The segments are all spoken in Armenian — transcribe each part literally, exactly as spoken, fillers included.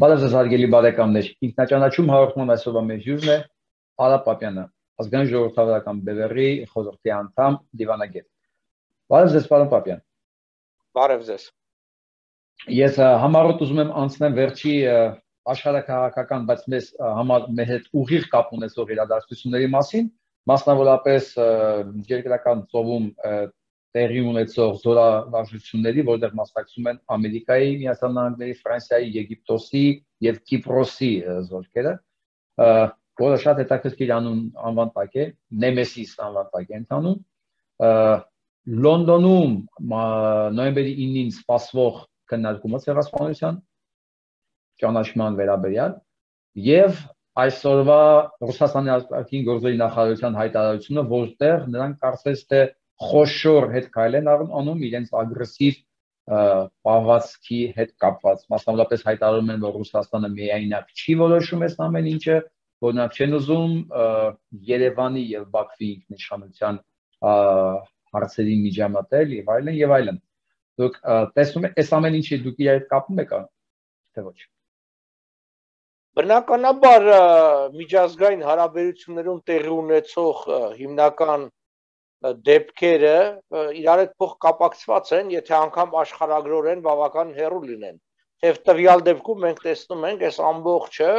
Բարև ձեզ հարգելի բարեկամներ, ինքնաճանաչում հաղորդման այսօրվա մեր հյուրն է Արա Պապյանը, ազգային ժողովրդավարական բևեռի խորհրդի անդամ, դիվանագետ։ Բարև ձեզ, պարոն Պապյան։ Բարև ձեզ։ Ես համառոտ ուզում եմ անցնեմ վերջի աշխարհաքաղաքական, բայց մեզ համար մեր հետ ուղիղ կապ ունեցող իրադարձությունների մասին, մասնավորապես երկրական ծովում տեղի ունեցող զորավարժությունների, որտեղ մասնակցում են Ամերիկայի Միացյալ Նահանգների, Ֆրանսիայի, Եգիպտոսի եւ Կիպրոսի զորքերը, որը շատ հետաքրքիր անվան տակ է, Նեմեսիս անվան տակ է ընթանում։ Լոնդոնում նոյեմբերի ինին սպասվող քննարկումը ցեղասպանության ճանաչման վերաբերյալ եւ այսօրվա Ռուսաստանի արտաքին գործերի նախարարության հայտարարությունը, որտեղ նրանք կարծես թե խոշոր հետ քայլ են անում իրենց ագրեսիվ պահվածքի հետ կապված, մասնավորապես հայտարարում են, որ Ռուսաստանը միայնակ չի որոշում այս ամեն ինչը, որ նրանք չեն ուզում Երևանի եւ Բաքվի ինքնիշխանության հարցերի միջամտել եւ այլն եւ այլն։ Դուք տեսնում եք այս ամեն ինչի դուք իրար հետ կապում եք, թե ոչ։ Բնականաբար միջազգային հարաբերություններում տեղի ունեցող հիմնական դեպքերը իրար հետ փոխկապակցված են, եթե անգամ աշխարհագրորեն բավական հեռու լինեն։ Եվ տվյալ դեպքում մենք տեսնում ենք, այս ամբողջը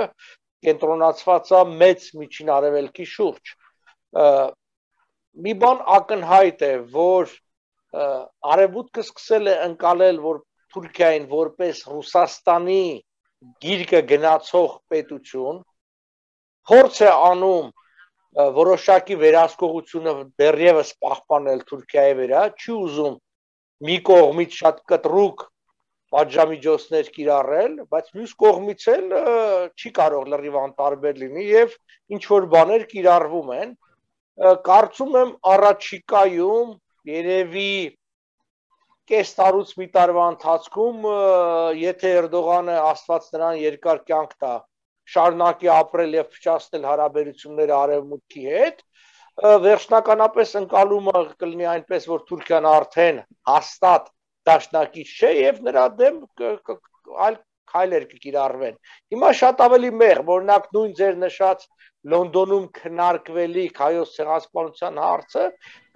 կենտրոնացված է մեծ միջին արևելքի շուրջ։ Մի բան ակնհայտ է, որ արևմուտքը սկսել է ընկալել, որ Թուրքիային որպես Ռուսաստանի գիրկը գնացող պետություն փորձ է անում որոշակի վերահսկողությունը դեռևս պահպանել Թուրքիայի վրա, չի ուզում մի կողմից շատ կտրուկ պատժամիջոցներ կիրառել, բայց մյուս կողմից էլ չի կարող լրիվ անտարբեր լինի եւ ինչ որ բաներ կիրառվում են։ Կարծում եմ առաջիկայում երևի կես տարուց մի տարվա ընթացքում, եթե Էրդողանը Աստված նրան երկար կյանք տա, շարունակի ապրել եւ փչացնել հարաբերությունները արևմուտքի հետ, վերջնականապես ընկալումը կլինի այնպես, որ Թուրքիան արդեն հաստատ դաշնակից չէ եւ նրա դեմ այլ քայլեր կկիրառվեն։ Հիմա շատ ավելի մեղմ, օրինակ նույն ձեր նշած Լոնդոնում քննարկվելիք հայոց ցեղասպանության հարցը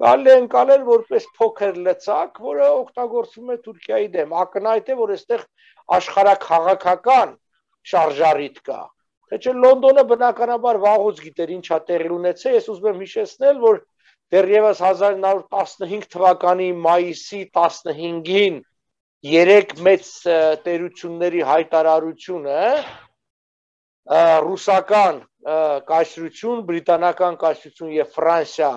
կարելի է ընկալել որպես փոքր լծակ, որը օգտագործվում է Թուրքիայի դեմ։ Ակնհայտ է, որ այստեղ աշխարհաքաղաքական շարժառիթ կա։ Թե չէ Լոնդոնը բնականաբար վաղուց գիտեր ինչա տեղի ունեցել, ես ուզում եմ հիշեցնել, որ դեռևս հազար նոր տասնհինգ թվականի մայիսի տասնհինգին երեք մեծ տերությունների հայտարարությունը ռուսական կայսրություն, բրիտանական կայսրություն եւ Ֆրանսիա,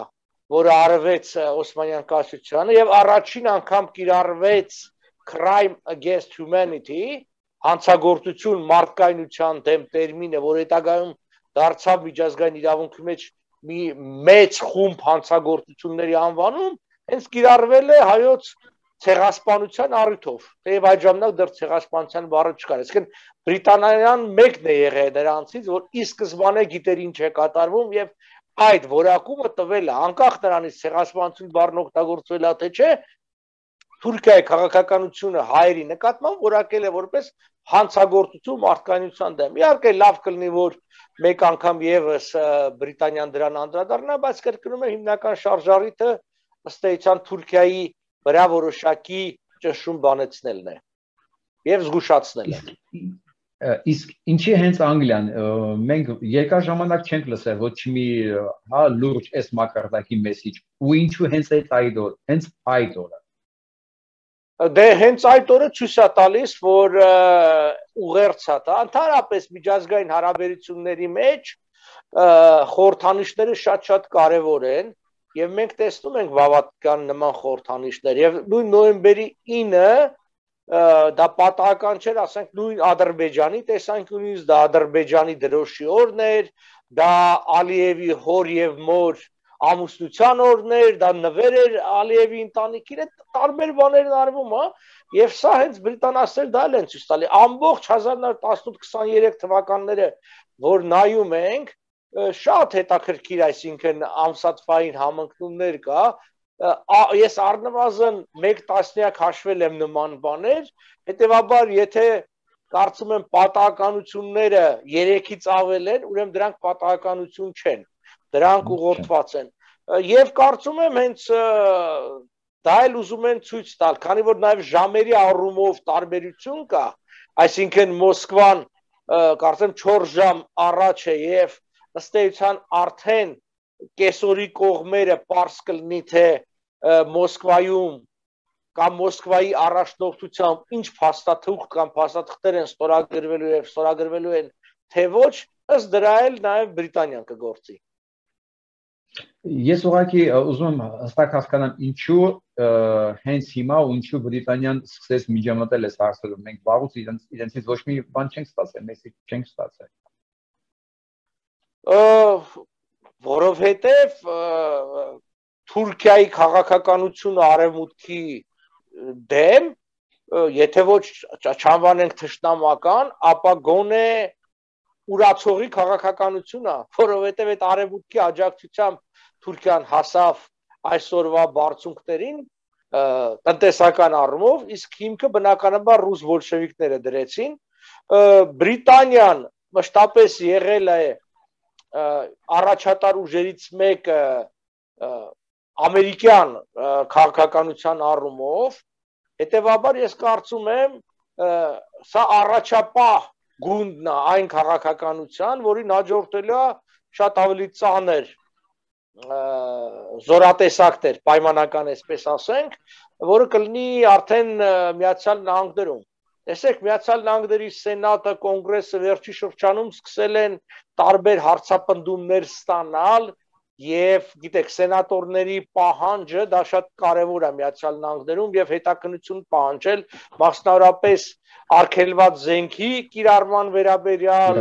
որը արվեց Օսմանյան կայսրությանը եւ առաջին անգամ կիրառվեց crime against humanity, հանցագործություն մարդկայնության դեմ տերմինը, որ հետագայում դարձավ միջազգային իրավունքի մեջ մի մեծ խումբ հանցագործությունների անվանում, հենց կիրառվել է հայոց ցեղասպանության առիթով։ Թեև այդ ժամանակ դեռ ցեղասպանության բառը չկար։ Այսինքն Բրիտանիան մեկն է եղել նրանցից, որ ի սկզբանե գիտեր ինչ է կատարվում եւ այդ որակումը տվել է, անկախ նրանից ցեղասպանություն բառն օգտագործվել է թե չէ, Թուրքիայի քաղաքականությունը հայերի նկատմամբ որակել է որպես հանցագործություն մարդկայնության դեմ։ Իհարկե լավ կլինի, որ մեկ անգամ եւս Բրիտանիան դրան անդրադառնա, բայց կրկնում եմ հիմնական շարժառիթը ըստ էության Թուրքիայի վրա որոշակի ճնշում բանեցնելն է եւ զգուշացնելը։ Իսկ ինչի հենց Անգլիան, մենք երկար ժամանակ չենք լսել ոչ մի հա լուրջ այս մակարդակի մեսիջ, ու ինչու հենց այդ օր, հենց այդ օրը։ Դե հենց այդ օրը ցույց է տալիս, որ ուղերձա դա ընդհանրապես միջազգային հարաբերությունների մեջ խորհրդանիշները շատ-շատ կարևոր են եւ մենք տեսնում ենք բավական նման խորհրդանիշներ եւ նույն նոյեմբերի ինը դա պատահական չէր, ասենք նույն Ադրբեջանի տեսանկյունից, դա Ադրբեջանի դրոշի օրն էր, դա Ալիևի հոր եւ մոր ամուսնության օրն էր, դա նվեր էր Ալիևի ընտանիքին, տարբեր բաներ արվում, հա, եւ սա հենց բրիտանացիներ դա են ցույց տալի։ Ամբողջ հազար նոր տասնութ տասներեք թվականները, որ նայում ենք, շատ հետաքրքիր, այսինքն ամսաթվային համընկնումներ կա, ես առնվազն մեկ տասնյակ հաշվել եմ նման բաներ, հետեւաբար եթե կարծում եմ պատահականությունները երեքից ավել են, ուրեմն դրանք պատահականություն չեն, դրանք ուղղորդված են։ Եվ կարծում եմ հենց դա էլ ուզում են ցույց տալ, քանի որ նաև ժամերի առումով տարբերություն կա, այսինքն Մոսկվան կարծեմ չորս ժամ առաջ է եւ ըստ էության արդեն կեսօրի կողմերը պարզ կլինի թե Մոսկվայում կամ Մոսկվայի առաջնորդությամբ ինչ փաստաթուղթ կամ փաստաթղթեր են ստորագրվելու եւ ստորագրվելու են թե ոչ, ըստ դրա էլ նաեւ Բրիտանիան կգործի։ Ես ուղղակի ուզում եմ հստակ հասկանամ ինչու հենց հիմա ու ինչու Բրիտանիան սկսեց միջամտել այս հարցերում։ Մենք վաղուց իրենց իրենցից ոչ մի բան չենք ստացել, մեսիջ չենք ստացել։ Որովհետև Թուրքիայի քաղաքականությունը արևմուտքի դեմ, եթե ոչ չանվանենք թշնամական, ապա գոնե ուրացողի քաղաքականություն է, որովհետև այդ արևմուտքի աջակցությամբ Թուրքիան հասավ այսօրվա բարձունքներին տնտեսական առումով, իսկ հիմքը բնականաբար ռուս բոլշևիկները դրեցին։ Բրիտանիան մշտապես եղել է առաջատար ուժերից մեկը ամերիկյան քաղաքականության առումով, հետևաբար ես կարծում եմ սա առաջապահ գունդն է այն քաղաքականության, որին հաջորդելու է շատ ավելի ծանր զորատեսակներ, պայմանական այսպես ասենք, որը կլինի արդեն Միացյալ Նահանգներում։ Տեսեք, Միացյալ Նահանգների Սենատը, Կոնգրեսը վերջի շրջանում սկսել են տարբեր հարցապնդումներ ստանալ եւ գիտեք, սենատորների պահանջը դա շատ կարեւոր է Միացյալ Նահանգներում եւ հետաքննություն պահանջել մասնավորապես արգելված զենքի կիրառման վերաբերյալ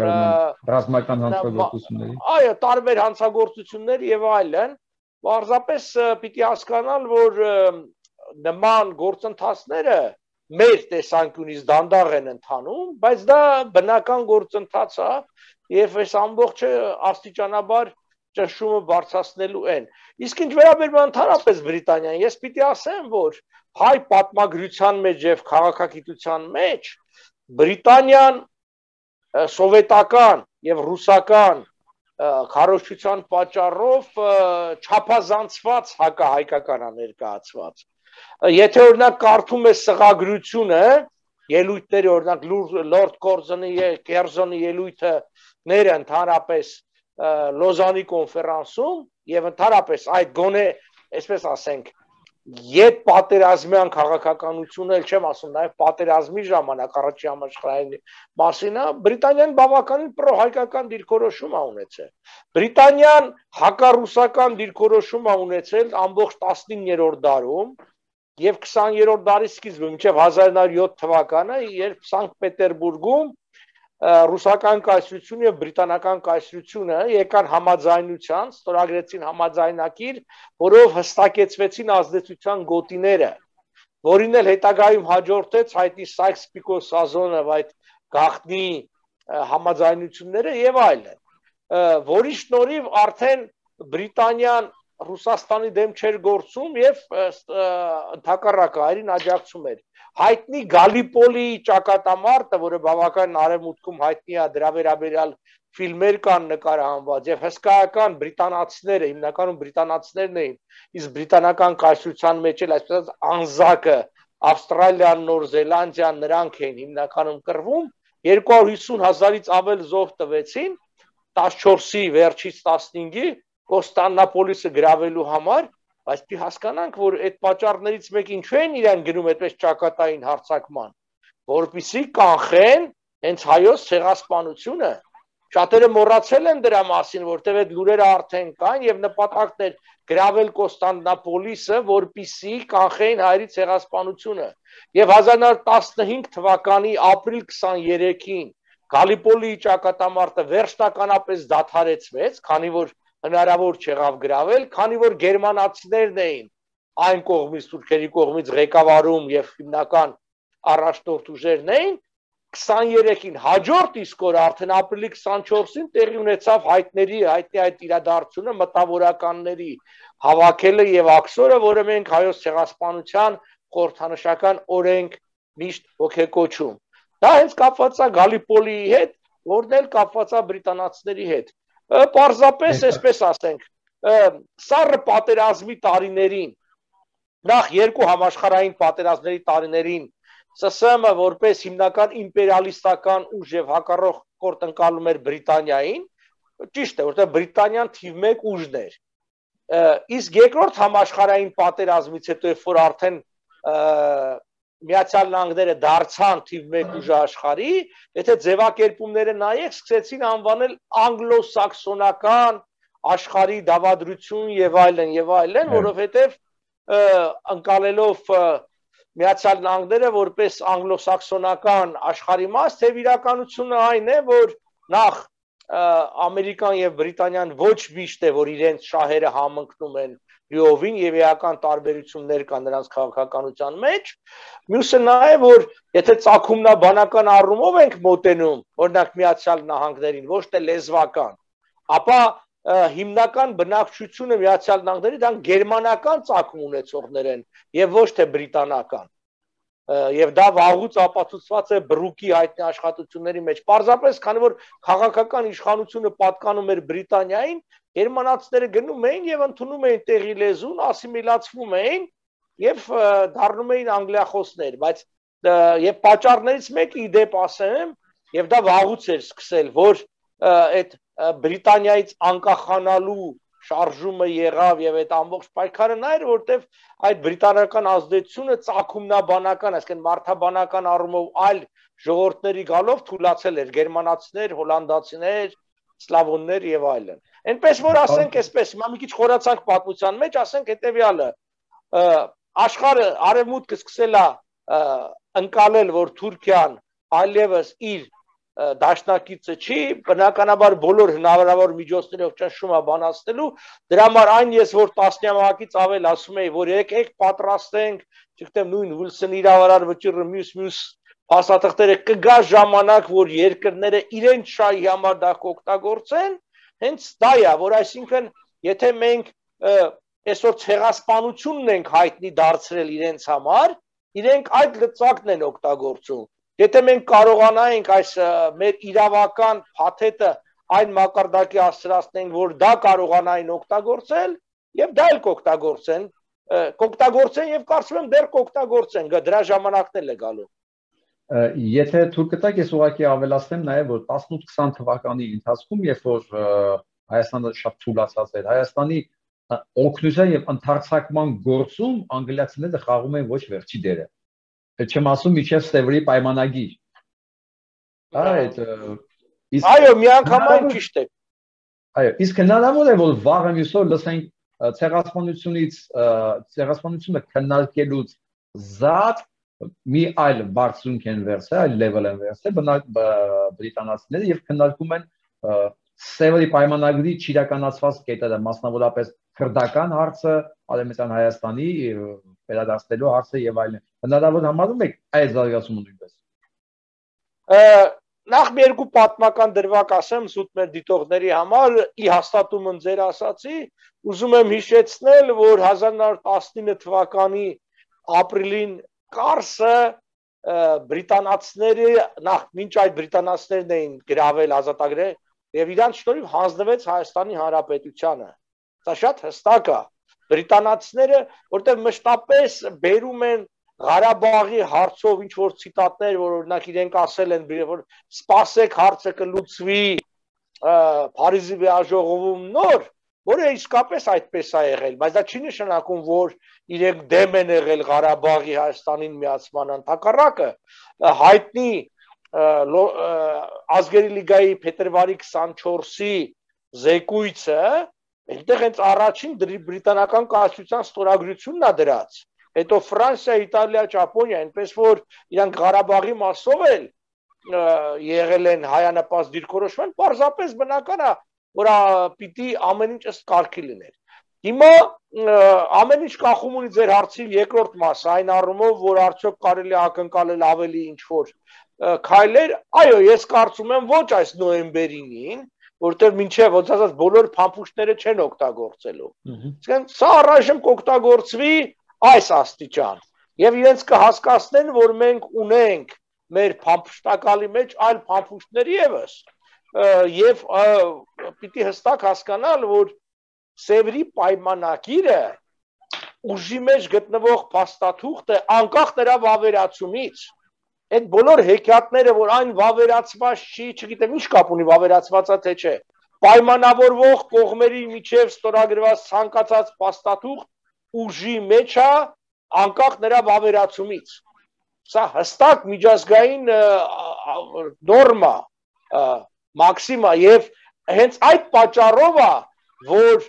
ռազմական հանցագործությունների, այո, տարբեր հանցագործություններ եւ այլն, պարզապես պիտի հասկանալ, որ նման գործընթացները մեր տեսանկյունից դանդաղ են ընթանում, բայց դա բնական գործընթաց է եւ այս ամբողջը աստիճանաբար ճնշումը բարձրացնելու են։ Իսկ ինչ վերաբերում ընդհանրապես Բրիտանիան, ես պիտի ասեմ, որ հայ պատմագրության մեջ եւ քաղաքագիտության մեջ Բրիտանիան սովետական եւ ռուսական քարոզչության պատճառով չափազանցված հակահայկական է ներկայացված։ Եթե օրինակ կարդում ես սղագրությունը, ելույթները, օրինակ Լորդ Կորզոնի Կերզոնի ելույթները ընդհանրապես Լոզանի կոնֆերանսում եւ ընդհանրապես այդ գոնե, այսպես ասենք, Ետ պատերազմյան քաղաքականությունը, էլ չեմ ասում, նաև պատերազմի ժամանակ առաջին համաշխարհային մասին է, Բրիտանիան բավականին պրոհայկական դիրքորոշում է ունեցել։ Բրիտանիան հակառուսական դիրքորոշում է ունեցել ամբողջ տասնիններորդ դարում եւ քսաներորդ դարի սկիզբում, մինչեւ հազար նոր յոթ թվականը, երբ Սանկտ Պետերբուրգում ռուսական կայսրությունը եւ բրիտանական կայսրությունը եկան համաձայնության, ստորագրեցին համաձայնակիր, որով հստակեցվեցին ազդեցության գոտիները, որին էլ հետագայում հաջորդեց հայտի Սայքս-Պիկոս Սազոնով այդ գաղտնի համաձայնությունները եւ այլն, որի շնորհիվ արդեն Բրիտանիան Ռուսաստանի դեմ չէր գործում եւ ընդհակառակը այրին աջակցում էր։ Հայտնի Գալիպոլի ճակատամարտը, որը բավական արևմուտքում հայտնի է, դրա վերաբերյալ ֆիլմեր կան նկարահանված եւ հսկայական բրիտանացիները, հիմնականում բրիտանացիներն էին, իսկ բրիտանական կայսրության մեջ էլ այսպես անզակը Ավստրալիան, Նոր Զելանդիան նրանք էին հիմնականում կռվում, երկու հարյուր հիսուն հազարից ավել զոհ տվեցին, տասնչորսի վերջից տասնհինգի Կոստանդնապոլիսը գրավելու համար, բայց պիտի հասկանանք, որ այդ պատճառներից մեկ ինչու են իրեն գնում այդպես ճակատային հարձակման, որպեսզի կանխեն հենց հայոց ցեղասպանությունը։ Շատերը մոռացել են դրա մասին, որտեղ այդ լուրերը արդեն կան եւ նպատակն էր գրավել Կոստանդնապոլիսը, որպեսզի կանխեին հայերի ցեղասպանությունը։ Եվ հազար նոր տասնհինգ թվականի ապրիլ քսաներեքին Գալիպոլի ճակատամարտը վերջնականապես դադարեցվեց, քանի որ հնարավոր չեղավ գրավել, քանի որ գերմանացիներն էին այն կողմից, թուրքերի կողմից ղեկավարում եւ հիմնական առաջնորդ ուժերն էին, քսաներեքին հաջորդ իսկ օր արդեն ապրիլի քսանչորսին տեղի ունեցավ հայտների հայտնի այդ իրադարձությունը, մտավորականների հավաքելը եւ աքսորը, որը մենք հայոց ցեղասպանության խորհրդանշական օրենք միշտ ոգեկոչում։ Դա հենց կապված է Գալիպոլիի հետ, որն էլ կապված է բրիտանացիների հետ։ Պարզապես, այսպես ասենք, սառը պատերազմի տարիներին, նախ երկու համաշխարհային պատերազմների տարիներին ՍՍՄ-ը որպես հիմնական իմպերիալիստական ուժ եւ հակառակ կորտ ընկալում էր Բրիտանիային, ճիշտ է, որտեղ Բրիտանիան թիվ մեկ ուժն էր։ Իսկ երկրորդ համաշխարհային պատերազմից հետո, երբ որ արդեն Միացյալ Նահանգները դարձան թիվ մեկ ուժ աշխարհի, եթե ձևակերպումները նայեք, սկսեցին անվանել անգլոսաքսոնական աշխարհի դավադրություն եւ այլն եւ այլն, որովհետեւ ընկալելով Միացյալ Նահանգները որպես անգլոսաքսոնական աշխարհի մաս, թե իրականությունը այն է, որ նախ Ամերիկան եւ Բրիտանիան ոչ միշտ է, որ իրենց շահերը համընկնում են լիովին եւ էական տարբերություններ կան նրանց քաղաքականության մեջ, մյուսը նա է, որ եթե ծագումնաբանական առումով ենք մոտենում, օրինակ Միացյալ Նահանգներին, ոչ թե լեզվական, ապա հիմնական բնակչությունը Միացյալ Նահանգների դա գերմանական ծագում ունեցողներ են եւ ոչ թե բրիտանական։ Եվ դա վաղուց ապացուցված է Բրուկի հայտնի աշխատությունների մեջ։ Պարզապես, քանի որ քաղաքական իշխանությունը պատկանում էր Բրիտանիային, գերմանացիները գնում էին եւ ընդունում էին տեղի լեզուն, ասիմիլացվում էին եւ դառնում էին անգլիախոսներ, բայց եւ պատճառներից մեկը ի դեպ ասեմ, եւ դա վաղուց էր սկսել, որ այդ Բրիտանիայից անկախանալու շարժումը եղավ եւ այդ ամբողջ պայքարը նա էր, որտեվ այդ բրիտանական ազդեցությունը ծագումնաբանական, այսինքն մարդաբանական առումով այլ ժողովուրդների գալով թուլացել էր, գերմանացիներ, հոլանդացիներ, սլավոններ եւ այլն։ Այնպես որ ասենք այսպես, հիմա մի քիչ խորացանք պատմության մեջ, ասենք հետեւյալը, աշխարհը արևմուտքը սկսել է ընկալել, որ Թուրքիան այլևս իր դաշնակիցը չի, բնականաբար բոլոր հնարավոր միջոցներով ճնշում է բանացնելու, դրա համար այն ես որ տասնյակից ավել ասում էի, որ եկեք պատրաստենք, չգիտեմ նույն Ուիլսոնի իրավարար վճիռը մյուս-մյուս փաստաթղթերը կգա ժամանակ, որ երկրները իրենց շահի համար դա կօգտագործեն, հենց դա է, որ այսինքն եթե մենք այսօր ցեղասպանությունն ենք հայտնի դարձրել իրենց համար, իրենք այդ լծակն են օգտագործում։ Եթե մենք կարողանայինք այս մեր իրավական փաթեթը այն մակարդակի հասցրացնենք, որ դա կարողանային օգտագործել, եւ դա էլ կօգտագործեն, կօգտագործեն եւ կարծում եմ դեռ կօգտագործեն, դրա ժամանակն էլ է գալու։ Եթե թուրքը տակ ես ուղղակի ավելացնեմ նաեւ, որ տասնութ-քսան թվականի ընթացքում, երբ որ Հայաստանը շատ թուլացած էր, Հայաստանի օգնության եւ ընդարձակման գործում անգլիացիները խաղում են ոչ վերջի դերը։ Չեմ ասում միջև Սևրի պայմանագիր։ Այդ այո, միանգամայն ճիշտ է։ Այո, իսկ հնարավոր է որ վաղը մյուսօր լսենք ցեղասպանությունից, ցեղասպանությունը քննարկելուց զատ մի այլ բարձունք են վերցել, այլ level են վերցել բրիտանացիները եւ քննարկում են Սևրի պայմանագրի չիրականացված կետերը, մասնավորապես քրդական հարցը, Արևմտյան Հայաստանի վերադարձնելու հարցը եւ այլն։ Հնարավոր համարում եք այդ զարգացումը նույնպես։ Նախ մի երկու պատմական դրվագ ասեմ սուտ մեր դիտողների համար, ի հաստատումն ձեր ասացի, ուզում եմ հիշեցնել, որ հազար նոր տասնինը թվականի ապրիլին Կարսը բրիտանացիները, նախ մինչ այդ բրիտանացիներն էին գրավել ազատագրել եւ իրանց շնորհիվ հանձնվեց Հայաստանի Հանրապետությանը։ Դա շատ հստակ է։ Բրիտանացիները, որտեղ մշտապես բերում են Ղարաբաղի հարցով ինչ որ ցիտատներ, որ օրինակ իրենք ասել են, որ սպասեք հարցը կլուծվի Փարիզի վեաժողովում նոր, որը իսկապես այդպես է եղել, բայց դա չի նշանակում, որ իրենք դեմ են եղել Ղարաբաղի Հայաստանին միացման ընդհակառակը, հայտնի Ազգերի լիգայի փետրվարի քսանչորսի զեկույցը, այնտեղ հենց առաջին բրիտանական կայսրության ստորագրությունն է դրած։ Հետո Ֆրանսիա, Իտալիա, Ճապոնիա, այնպես որ իրանք Ղարաբաղի մասով էլ եղել են հայանպաստ դիրքորոշման, պարզապես բնական է, որ պիտի ամեն ինչ ըստ կարգի լիներ։ Հիմա ամեն ինչ կախում ունի ձեր հարցի երկրորդ մասը, այն առումով, որ արդյոք կարելի է ակնկալել ավելի ինչ որ քայլեր, այո, ես կարծում եմ ոչ այս նոյեմբերին, որտեղ մինչև ոնց ասած բոլոր փամփուշտները չեն օգտագործելու։ Իսկ սա առայժմ կօգտագործվի այս աստիճան։ Եվ իրենց կհասկացնեն, որ մենք ունենք մեր փամփշտակալի մեջ այլ փամփուշտներ եւս եւ պիտի հստակ հասկանալ, որ Սևրի պայմանագիրը ուժի մեջ գտնվող փաստաթուղթ է անկախ նրա վավերացումից։ Այդ բոլոր հեքիաթները, որ այն վավերացված չի, չգիտեմ ինչ կապ ունի վավերացվածա թե չէ, պայմանավորվող կողմերի միջև ստորագրված ցանկացած փաստաթուղթ ուժի մեջ է անկախ նրա վավերացումից։ Սա հստակ միջազգային նորմա, մաքսիմա եւ հենց այդ պատճառով է, որ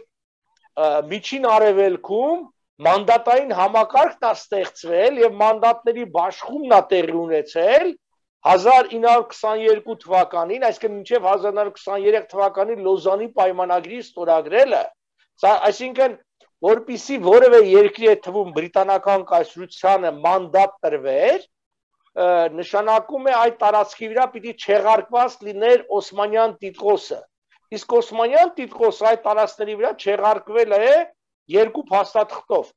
միջին արևելքում մանդատային համակարգն է ստեղծվել եւ մանդատների բաշխումն է տեղի ունեցել հազար ինը հարյուր քսաներկու թվականին, այսինքն մինչև հազար ինը հարյուր քսաներեք թվականի Լոզանի պայմանագրի ստորագրելը, սա այսինքն որպիսի որևէ երկրի է թվում բրիտանական կայսրությանը մանդատ տրվեր, նշանակում է այդ տարածքի վրա պիտի չեղարկված լիներ Օսմանյան տիտղոսը։ Իսկ Օսմանյան տիտղոսը այդ տարածքների վրա չեղարկվել է երկու փաստաթղթով։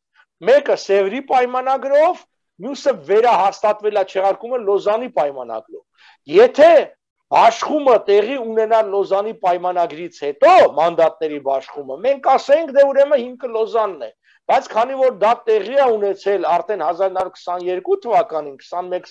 Մեկը Սևրի պայմանագրով, մյուսը վերահաստատվել է չեղարկումը Լոզանի պայմանագրով։ Եթե բաշխումը տեղի ունենա Լոզանի պայմանագրից հետո, մանդատների բաշխումը, մենք ասենք դե ուրեմն հիմքը Լոզանն է, բայց քանի որ դա տեղի է ունեցել արդեն հազար ինը հարյուր քսաներկու թվականին, քսանմեկ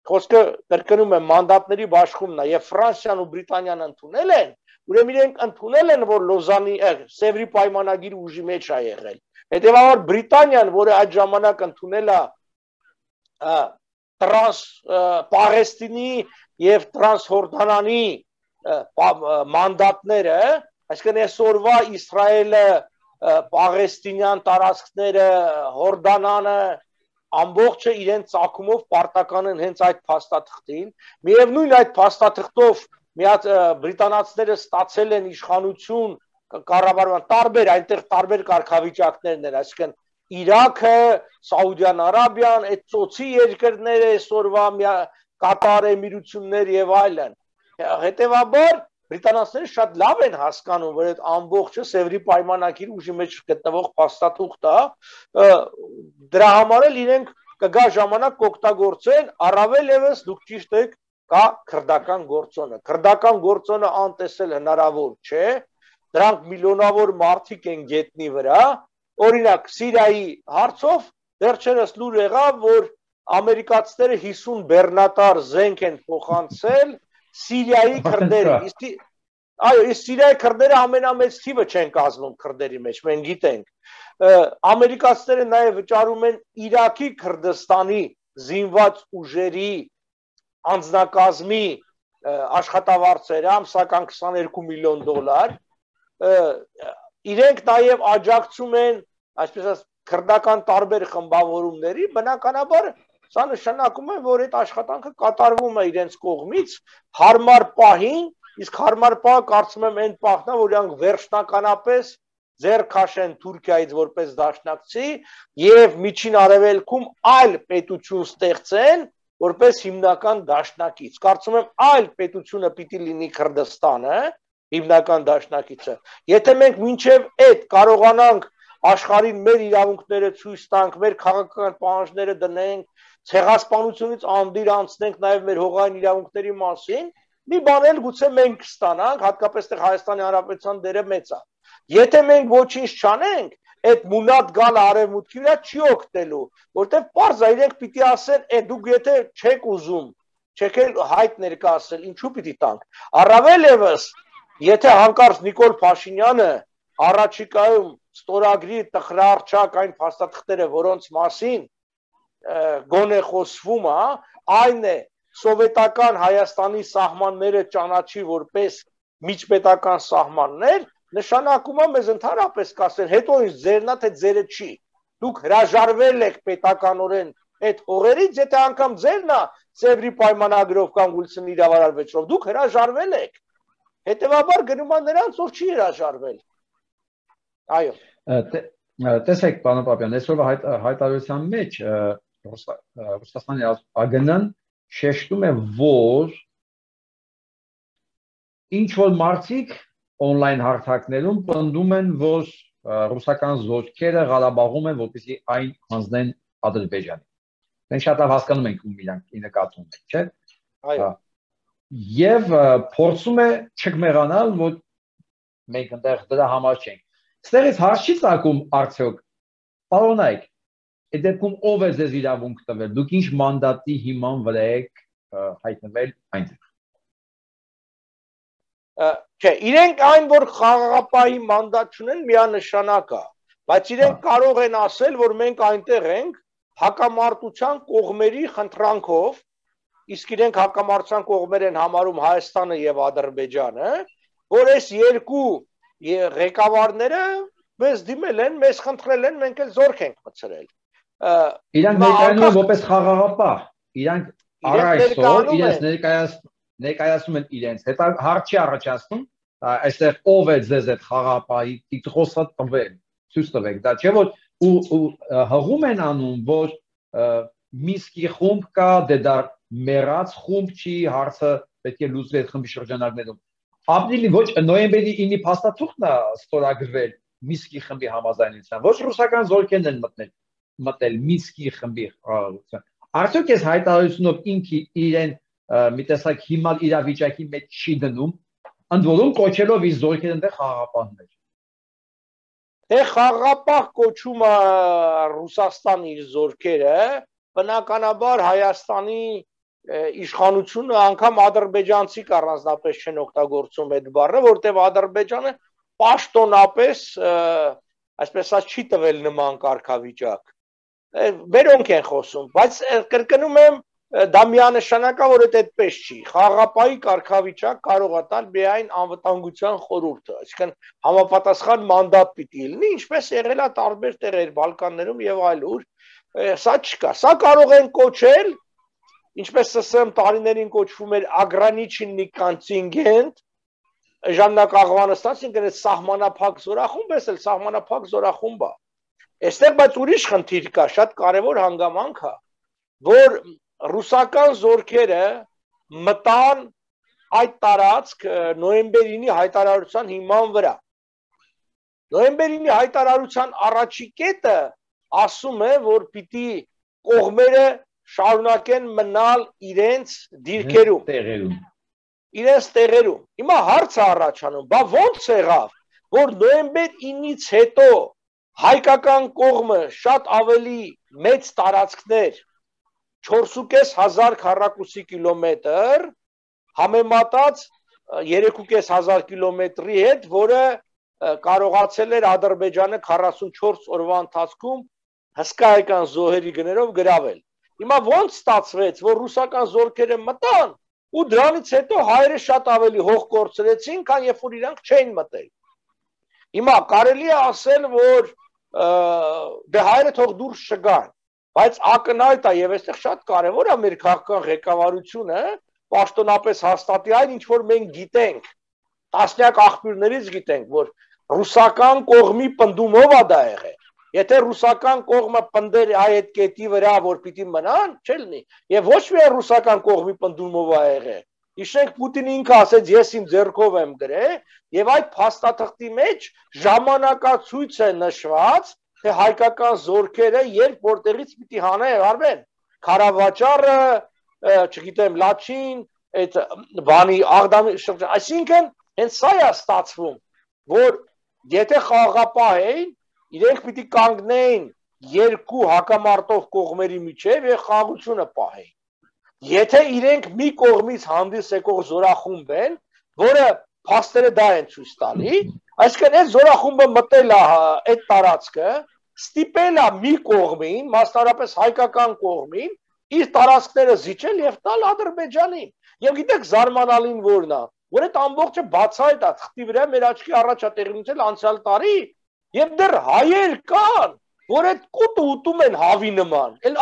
խոսքը կրկնում է մանդատների բաշխումն է եւ Ֆրանսիան ու Բրիտանիան ընդունել են, ուրեմն իրենք ընդունել են, որ Լոզանի Սևրի պայմանագիրը ուժի մեջ է եղել։ Հետևաբար Բրիտանիան, որը այդ ժամանակ ընդունել է տրանս Պաղեստինի եւ տրանսհորդանանի մանդատները, այսինքն այսօրվա Իսրայելը, Պաղեստինյան տարածքները, Հորդանանը, ամբողջը իրենց ցակումով պարտական են հենց այդ փաստաթղթին, միևնույն այդ փաստաթղթով մի հատ բրիտանացիները ստացել են իշխանություն կառավարման տարբեր, այնտեղ տարբեր կարգավիճակներն են, այսինքն Իրաքը, Սաուդյան Արաբիան, այդ ծոցի երկրները, այսօրվա Կատար Էմիրություններ եւ այլն։ Հետևաբար բրիտանացիները շատ լավ են հասկանում, որ այդ ամբողջը Սևրի պայմանագիրի ուժի մեջ գտնվող փաստաթուղթ է, դրա համար էլ իրենք կգա ժամանակ կօգտագործեն, առավել եւս դուք ճիշտ եք, կա քրդական գործոնը։ Քրդական գործոնը անտեսել հնարավոր չէ, դրանք միլիոնավոր մարդիկ են գետնի վրա, օրինակ Սիրիայի հարցով վերջերս լուր եղավ, որ ամերիկացիները հիսուն բեռնատար զենք են փոխանցել Սիրիայի քրդերը։ Այո, իսկ Սիրիայի քրդերը ամենամեծ թիվը չեն կազմում քրդերի մեջ, մենք գիտենք։ Ամերիկացիները նաև վճարում են Իրաքի Քրդստանի զինված ուժերի անձնակազմի աշխատավարձերը, ամսական քսաներկու միլիոն դոլար, իրենք նաև աջակցում են, այսպես ասած, քրդական տարբեր խմբավորումների, բնականաբար սա նշանակում է, որ այդ աշխատանքը կատարվում է իրենց կողմից հարմար պահին, իսկ հարմար պահը կարծում եմ այն պահն է, որ իրանք վերջնականապես ձեռք քաշեն Թուրքիայից որպես դաշնակցի եւ միջին արևելքում այլ պետություն ստեղծեն որպես հիմնական դաշնակից։ Կարծում եմ այլ պետությունը պիտի լինի Քրդստանը, հիմնական դաշնակիցը։ Եթե մենք մինչև այդ կարողանանք աշխարհին մեր իրավունքները ցույց տանք, մեր քաղաքական պահանջները դնենք, ցեղասպանությունից անդիր անցնենք նաև մեր հողային իրավունքների մասին, մի բան էլ գուցե մենք կստանանք, հատկապես թե Հայաստանի Հանրապետության դերը մեծ է։ Եթե մենք ոչինչ չանենք, այդ մունատ գալը արևմուտքի վրա չի օգտելու, որտեղ պարզ է իրենք պիտի ասեն, «Է դուք եթե չեք ուզում, չեք էլ հայտ ներկայացնել, ինչու պիտի տանք»։ Առավել եւս, եթե հանկարծ Նիկոլ Փաշինյանը առաջիկայում ստորագրի տխրարչակ այն փաստաթղթերը, որոնց մասին գոնե խոսվում է, այն է սովետական Հայաստանի սահմանները ճանաչի որպես միջպետական սահմաններ, նշանակում է մեզ ընդհանրապես կասեն, հետո ինչ ձերն է, թե ձերը չի։ Դուք հրաժարվել եք պետականորեն այդ հողերից, եթե անգամ ձերն է Սևրի պայմանագրով կամ Գուլցնի իրավարար վեճրով, դուք հրաժարվել եք։ Հետևաբար գնում է նրանց, որ չի հրաժարվել։ Այո։ Տեսեք, պարոն Պապյան, այսօրվա հայտարարության մեջ Ռուսաստանի ԱԳՆ-ն շեշտում է, որ ինչ որ մարդիկ on-line հարթակներում պնդում են, որ ռուսական զորքերը Ղարաբաղում են, որպեսզի այն հանձնեն Ադրբեջանին։ մենք շատ լավ հասկանում ենք ում իրանք նկատում են, չէ՞։ Այո։ Եվ փորձում է չկմեղանալ, որ մենք այնտեղ դրա համար չենք։ Ստերից հարց չի ցակում արդյոք, պարոնայք, այդ դեպքում ով է ձեզ իրավունք տվել, դուք ինչ մանդատի հիման վրա եք հայտնվել այնտեղ։ Չէ, իրենք այն, որ խաղաղապահի մանդատ չունեն, միանշանակ է, բայց իրենք կարող են ասել, որ մենք այնտեղ ենք հակամարտության կողմերի խնդրանքով, իսկ իրենք հակամարտության կողմեր են համարում Հայաստանը եւ Ադրբեջանը, որ այս երկու ղեկավարները մեզ դիմել են, մեզ խնդրել են, մենք էլ զորք ենք մտցրել։ Իրանք ներկայանում են որպես խաղաղապահ, իրանք առայսօր իրենց ներկայացնում ներկայացնում են իրենց, հետո հարց չի առաջացնում, այստեղ ով է ձեզ այդ խաղաղապահի տիտղոսը տվել, ցույց տվեք, դա չէ որ ու հղում են անում, որ Միսկի խումբ կա, դե դա մեռած խումբ չի, հարցը պետք է լուծվի այդ խմբի շրջանակներում։ Ապրիլի ոչ նոյեմբերի ինը փաստաթուղթն է ստորագրվել Միսկի խմբի համաձայնությամբ, ոչ ռուսական զորքերն են մտնել, մտել Միսկի խմբի խաղաղության։ Արդյոք այս հայտարարությունով ինքը իրեն մի տեսակ հիմալ իրավիճակի մեջ չի դնում, ընդ որում կոչելով իր զորքերը այնտեղ խաղաղապահներ։ Դե խաղաղապահ կոչումը Ռուսաստանի իր զորքերը, բնականաբար Հայաստանի իշխանությունը անգամ ադրբեջանցի առանձնապես չեն օգտագործում այդ բառը, որտեղ Ադրբեջանը պաշտոնապես, այսպես ասած, չի տվել նման կարգավիճակ։ Բերոնք են խոսում, բայց կրկնում եմ, դա միանշանակ է, որ դա այդպես չի։ Խաղաղապահի կարգավիճակ կարող է տալ միայն անվտանգության խորհուրդը, այսինքն համապատասխան մանդատ պիտի լինի, ինչպես եղել է տարբեր տեղեր Բալկաններում եւ այլուր։ Սա չկա։ Սա կարող են կոչել, ինչպես ՍՍՍՐ տարիներին կոչվում էր ագրանիչնի կոնտինգենտ, ժամանակ աղվանստացին գնաց սահմանափակ զորախումբ, էս էլ սահմանափակ զորախումբ է։ Այստեղ բայց ուրիշ խնդիր կա, շատ կարևոր հանգամանք է, որ ռուսական զորքերը մտան այդ տարածք նոյեմբերի ինը հայտարարության հիման վրա։ Նոյեմբերի ինը հայտարարության առաջի կետը ասում է, որ պիտի կողմերը շարունակեն մնալ իրենց դիրքերում, տեղերում։ Իրենց տեղերում։ Հիմա հարցը առաջանում, բա ո՞նց եղավ, որ նոյեմբեր ինից հետո հայկական կողմը շատ ավելի մեծ տարածքներ չորս հազար քառակուսի կիլոմետր համեմատած երեք հազար կիլոմետրի հետ, որը կարողացել էր Ադրբեջանը քառասունչորս օրվա ընթացքում հսկայական զոհերի գներով գրավել։ Հիմա ո՞նց ստացվեց, որ ռուսական զորքերը մտան ու դրանից հետո հայերը շատ ավելի հող կորցրեցին, քան երբ որ իրանք չէին մտել։ Հիմա կարելի է ասել, որ դե հայերը թող դուրս չգան, բայց ակնհայտ է եւ այստեղ շատ կարեւոր է մեր քաղաքական ղեկավարությունը պաշտոնապես հաստատի այն, ինչ որ մենք գիտենք, տասնյակ աղբյուրներից գիտենք, որ ռուսական կողմի պնդումով է դա եղել։ Եթե ռուսական կողմը պնդեր այդ կետի վրա, որ պիտի մնան, չէ՞ լինի, եւ ոչ միայն ռուսական կողմի պնդումով է եղել։ Իշենք Պուտինը ինքը ասեց, ես իմ ձեռքով եմ գրել, եւ այդ փաստաթղթի մեջ ժամանակացույց է նշված, թե հայկական զորքերը երբ որտեղից պիտի հանեն, Քարավաճառը, չգիտեմ, Լաչին, այդ բանի Աղդամի շրջան, այսինքն հենց սա է ստացվում, որ եթե խաղաղապահ էին, իրենք պիտի կանգնեին երկու հակամարտող կողմերի միջև եւ խաղաղությունը պահեին։ Եթե իրենք մի կողմից հանդիս եկող զորախումբ են, որը փաստերը դա են ցույց տալի, այսինքն այդ զորախումբը մտել է այդ տարածքը, ստիպել է մի կողմին, մասնավորապես հայկական կողմին, իր տարածքները զիջել եւ տալ Ադրբեջանին։ Եվ գիտեք զարմանալին որն է, որ այդ ամբողջը բացահայտ է, թղթի վրա մեր աչքի առաջ է տեղի ունեցել անցյալ տարի, եւ դեռ հայեր կան, որ այդ կուտը ուտում են հավի նման, էլ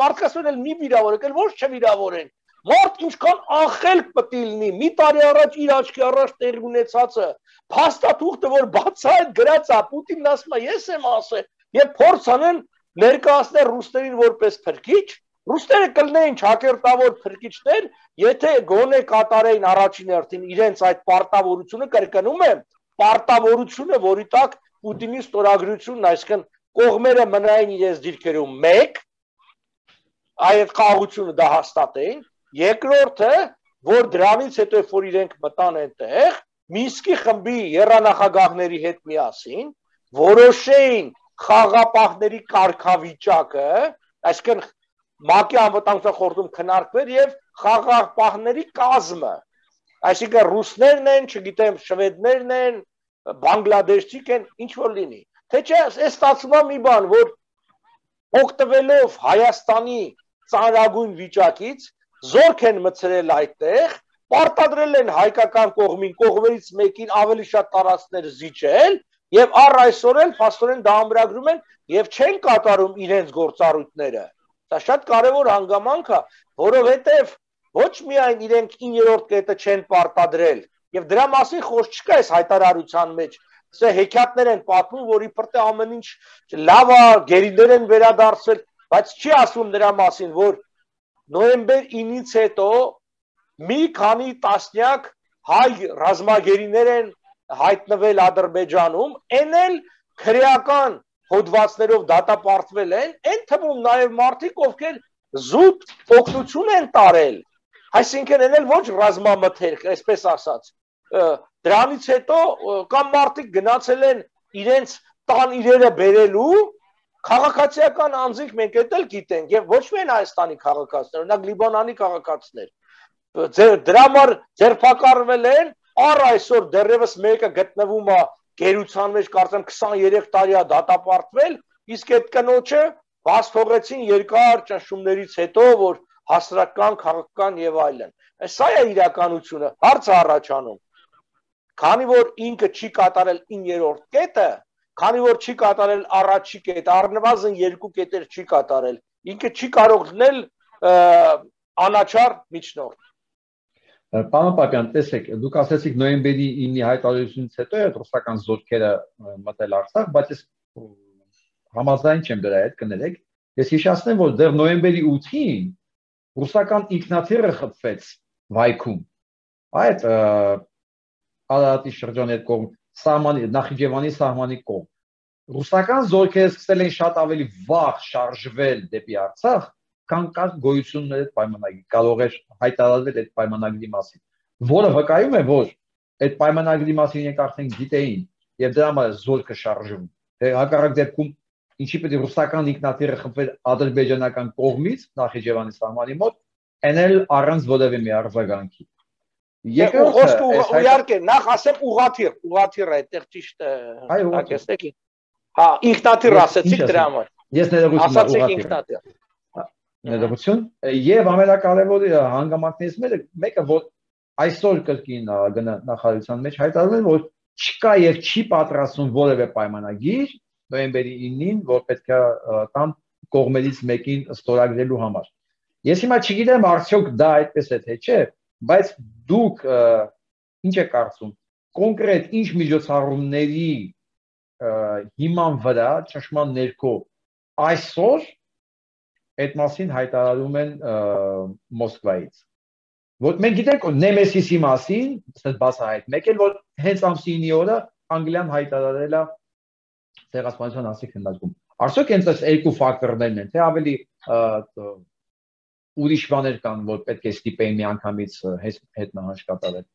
մարդկասեն էլ մի վիրավորեք, էլ ոչ չվիրավորեն, մարդ ինչքան անխելք պտի լինի, մի տարի առաջ իր աչքի առաջ տեղի ունեցածը, փաստաթուղթը, որ բացահայտ գրած է, Պուտինն ասում է, ես եմ ասել, եւ փորձ անեն ներկայացնել ռուսներին որպես փրկիչ, ռուսները կլինեին ճակերտավոր փրկիչներ, եթե գոնե կատարեին առաջին հերթին իրենց այդ պարտավորությունը, կրկնում եմ, պարտավորությունը, որի տակ Պուտինի ստորագրությունն, այսինքն կողմերը մնային իրենց դիրքերում մեկ, այդ խաղաղությունը դա հաստատեին, երկրորդը, որ դրանից հետո որ իրենք մտան այնտեղ, Մինսկի խմբի եռանախագահների հետ միասին որոշեին խաղաղապահների կարգավիճակը, այսինքն ՄԱԿ-ի անվտանգության խորհրդում քննարկվեր եւ խաղաղապահների կազմը, այսինքն ռուսներն են, չգիտեմ, շվեդներն են, բանգլադեշցիք են, ինչ որ լինի։ Թե չէ, այս ստացվում է մի բան, որ օգտվելով Հայաստանի ծանրագույն վիճակից զորք են մցրել այդտեղ, պարտադրել են հայկական կողմին, կողմերից մեկին ավելի շատ տարածքներ զիջել եւ առ այսօր էլ փաստորեն դա ամրագրում են եւ չեն կատարում իրենց գործառույթները։ Դա շատ կարեւոր հանգամանք է, որովհետեւ ոչ միայն իրենք իններորդ կետը չեն պարտադրել եւ դրա մասին խոսք չկա այս հայտարարության մեջ։ Սա հեքիաթներ են պատմում, որ իբր թե ամեն ինչ լավ է, գերիներ են վերադարձել, բայց չի ասում դրա մասին, որ նոյեմբեր ինից հետո մի քանի տասնյակ հայ ռազմագերիներ են հայտնվել Ադրբեջանում, այն էլ քրեական հոդվածներով դատապարտվել են, այն թվում նաև մարդիկ, ովքեր զուտ օգնություն են տարել, այսինքն այն էլ ոչ ռազմամթերք, այսպես ասած, դրանից հետո կամ մարդիկ գնացել են իրենց տան իրերը բերելու, քաղաքացիական անձինք մենք էլ գիտենք եւ ոչ միայն Հայաստանի քաղաքացիներ, օրինակ Լիբանանի քաղաքացիներ, դրա համար ձերբակալվել են, առ այսօր դեռևս մեկը գտնվում է գերության մեջ, կարծեմ քսաներեք տարի է դատապարտվել, իսկ այդ կնոջը բաց թողեցին երկար ճնշումներից հետո, որ հասարակական, քաղաքական եւ այլն։ Սա է իրականությունը, հարցը առաջանում։ Քանի որ ինքը չի կատարել իններորդ կետը, քանի որ չի կատարել առաջի կետը, առնվազն երկու կետեր չի կատարել, ինքը չի կարող լինել անաչառ միջնորդ։ Պարոն Պապյան, տեսեք, դուք ասացիք նոյեմբերի ինի հայտարարությունից հետո է ռուսական զորքերը մտել Արցախ, բայց ես համաձայն չեմ դրա հետ, կներեք։ Ես հիշեցնեմ, որ դեռ նոյեմբերի ութին ռուսական ինքնաթիռը խփվեց Վայքում։ Այդ Արարատի շրջանի հետ կողմ, սահմանի, Նախիջևանի սահմանի կողմ։ Ռուսական զորքերը սկսել են շատ ավելի վաղ շարժվել դեպի Արցախ, քան կար գոյություններ այդ պայմանագրի, կարող էր հայտարարվել այդ պայմանագրի մասին, որը վկայում է, որ այդ պայմանագրի մասին իրենք արդեն գիտեին եւ դրա համար զորքը շարժվում։ Հակառակ դեպքում ինչի պետք է ռուսական ինքնաթիռը խփվել ադրբեջանական կողմից Նախիջևանի սահմանի մոտ, այն էլ առանց որևէ մի արձագանքի։ Երկրորդը իհարկե նախ ասեմ ուղաթիռ, ուղաթիռը այդտեղ ճիշտ է, ակստեք։ Հա, ինքնաթիռ ասեցիք դրա համար։ Ես ներողություն ասացիք ինքնաթիռ։ Ներողություն, եւ ամենակարևորը հանգամանքներից մեկը, որ այսօր կրկին նախարարության մեջ հայտարարել են, որ չկա եւ չի պատրաստվում որևէ պայմանագիր նոյեմբերի ինին, որ պետք է տան կողմերից մեկին ստորագրելու համար։ Ես հիմա չգիտեմ արդյոք դա այդպես է թե չէ, բայց դուք ինչ եք կարծում, կոնկրետ ինչ միջոցառումների հիման վրա ճշմարտ ներքո այսօր այդ մասին հայտարարում են Մոսկվայից։ Որ մենք գիտենք Նեմեսիսի մասին, ասած բացահայտ, մեկ էլ որ հենց ամսի ինի օրը Անգլիան հայտարարել է ցեղասպանության հասցե քննարկում։ Արդյոք հենց այս երկու ֆակտորներն են, թե ավելի ուրիշ բաներ կան, որ պետք է ստիպեին միանգամից հետ նահանջ կատարել։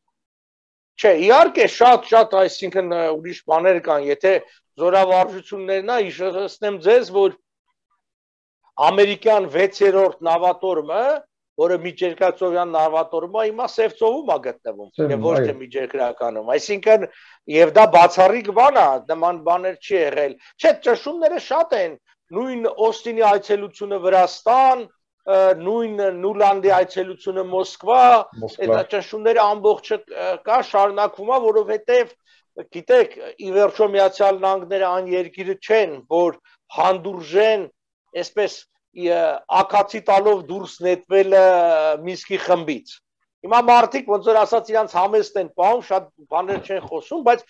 Չէ, իհարկե շատ շատ, այսինքն ուրիշ բաներ կան, եթե զորավարժություններն է, հիշեցնեմ ձեզ, որ ամերիկյան վեցերորդ նավատորմը, որը միջերկրածովյան նավատորմը, հիմա Սևծովում է գտնվում, եւ ոչ թե միջերկրականում։ Այսինքն, եւ դա բացառիկ բան է, նման բաներ չի եղել։ Չէ, ճշումները շատ են, նույն Օստինի այցելությունը Վրաստան, նույն Նուլանդի այցելությունը Մոսկվա, այդ ճշումները ամբողջը կա շարունակվում է, որովհետեւ գիտեք, ի վերջո Միացյալ Նահանգները այն երկիրը չեն, որ հանդուրժեն, այսպես ակացի տալով դուրս նետվել Մինսկի խմբից։ Հիմա մարդիկ ոնց որ ասած իրանց համեստ են պահում, շատ բաներ չեն խոսում, բայց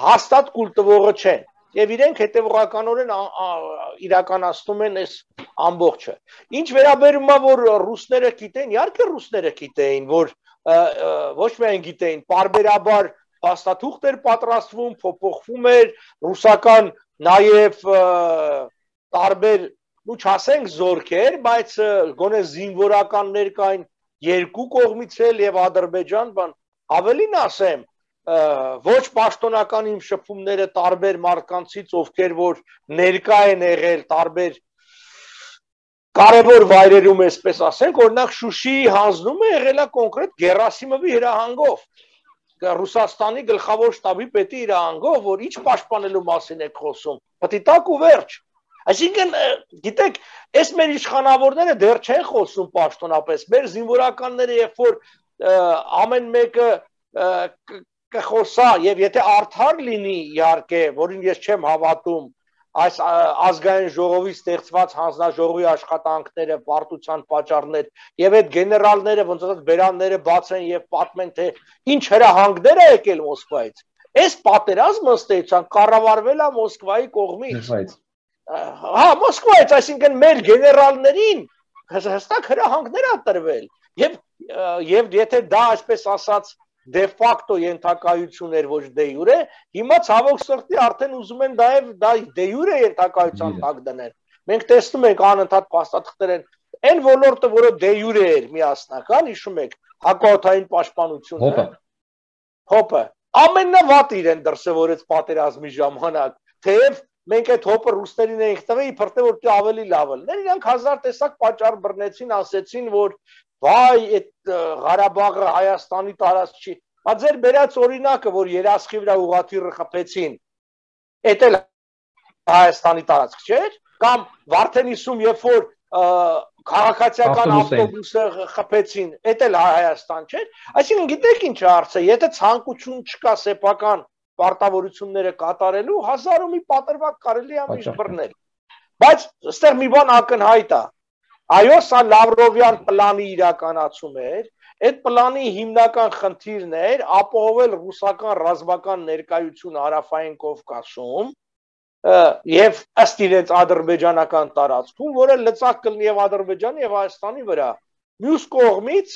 հաստատ կուլ տվողը չեն։ Եվ իրենք հետևողականորեն իրականացնում են այս ամբողջը։ Ինչ վերաբերում է, որ ռուսները գիտեն, իհարկե ռուսները գիտեին, որ ոչ միայն գիտեին, պարբերաբար փաստաթուղթ էր պատրաստվում, փոփոխվում էր, ռուսական նաև տարբեր ու չասենք զորքեր, բայց գոնե զինվորականներ կային երկու կողմից էլ եւ Ադրբեջան, բան ավելին ասեմ, ոչ պաշտոնական իմ շփումները տարբեր մարդկանցից, ովքեր որ ներկա են եղել տարբեր կարևոր վայրերում, այսպես ասենք, օրինակ Շուշիի հանձնումը եղել է կոնկրետ Գերասիմովի հրահանգով, Ռուսաստանի գլխավոր շտաբի պետի հրահանգով, որ ինչ պաշտպանելու մասին եք խոսում, պտիտակ ու վերջ։ Այսինքն, գիտեք, այս մեր իշխանավորները դեռ չեն խոսում պաշտոնապես, մեր զինվորականները, երբ որ ամեն մեկը կխոսա եւ եթե արդար լինի, իհարկե, որին ես չեմ հավատում, այս ազգային ժողովի ստեղծված հանձնաժողովի աշխատանքները, պարտության պատճառներ եւ այդ գեներալները ոնց ասած բերանները բացեն եւ պատմեն թե ինչ հրահանգներ է եկել Մոսկվայից։ Այս պատերազմը ըստեյության կառավարվել է Մոսկվայի կողմից։ Հա, Մոսկվայից, այսինքն մեր գեներալներին հստակ հրահանգներ ա տրվել եւ եւ եթե դա այսպես ասած դե ֆակտո ենթակայություն էր ոչ դե յուրե, հիմա ցավոք սրտի արդեն ուզում են դա եւ դա դե յուրե ենթակայության տակ դնել։ Մենք տեսնում ենք անընդհատ փաստաթղթեր են, այն ոլորտը, որը դե յուրե էր միասնական, հիշում եք, հակաօդային պաշտպանությունը, հոպը, ամենավատ իրեն դրսևորեց պատերազմի ժամանակ, թեև մենք այդ հոպը ռուսներին էինք տվել, իբր թե որ ավելի լավ լիներ, իրանք հազար տեսակ պատճառ բռնեցին, ասեցին, որ վայ, այդ Ղարաբաղը Հայաստանի տարածք չի։ Բա ձեր բերած օրինակը, որ երասխի վրա ուղղաթիռը խփեցին, էդ էլ Հայաստանի տարածք չէր, կամ Վարդենիսում, երբ որ քաղաքացիական ավտոբուսը խփեցին, էդ էլ Հայաստան չէր։ Այսինքն գիտեք ինչ է հարցը, եթե ցանկություն չկա սեփական պարտավորությունները կատարելու, հազար ու մի պատրվակ կարելի է միշտ բռնել։ Բայց այստեղ մի բան ակնհայտ է։ Այո, սա Լավրովյան պլանի իրականացում էր, այդ պլանի հիմնական խնդիրն էր ապահովել ռուսական ռազմական ներկայություն Հարավային Կովկասում եւ ըստ իրենց ադրբեջանական տարածքում, որը լծակ կլինի եւ Ադրբեջանի եւ Հայաստանի վրա։ Մյուս կողմից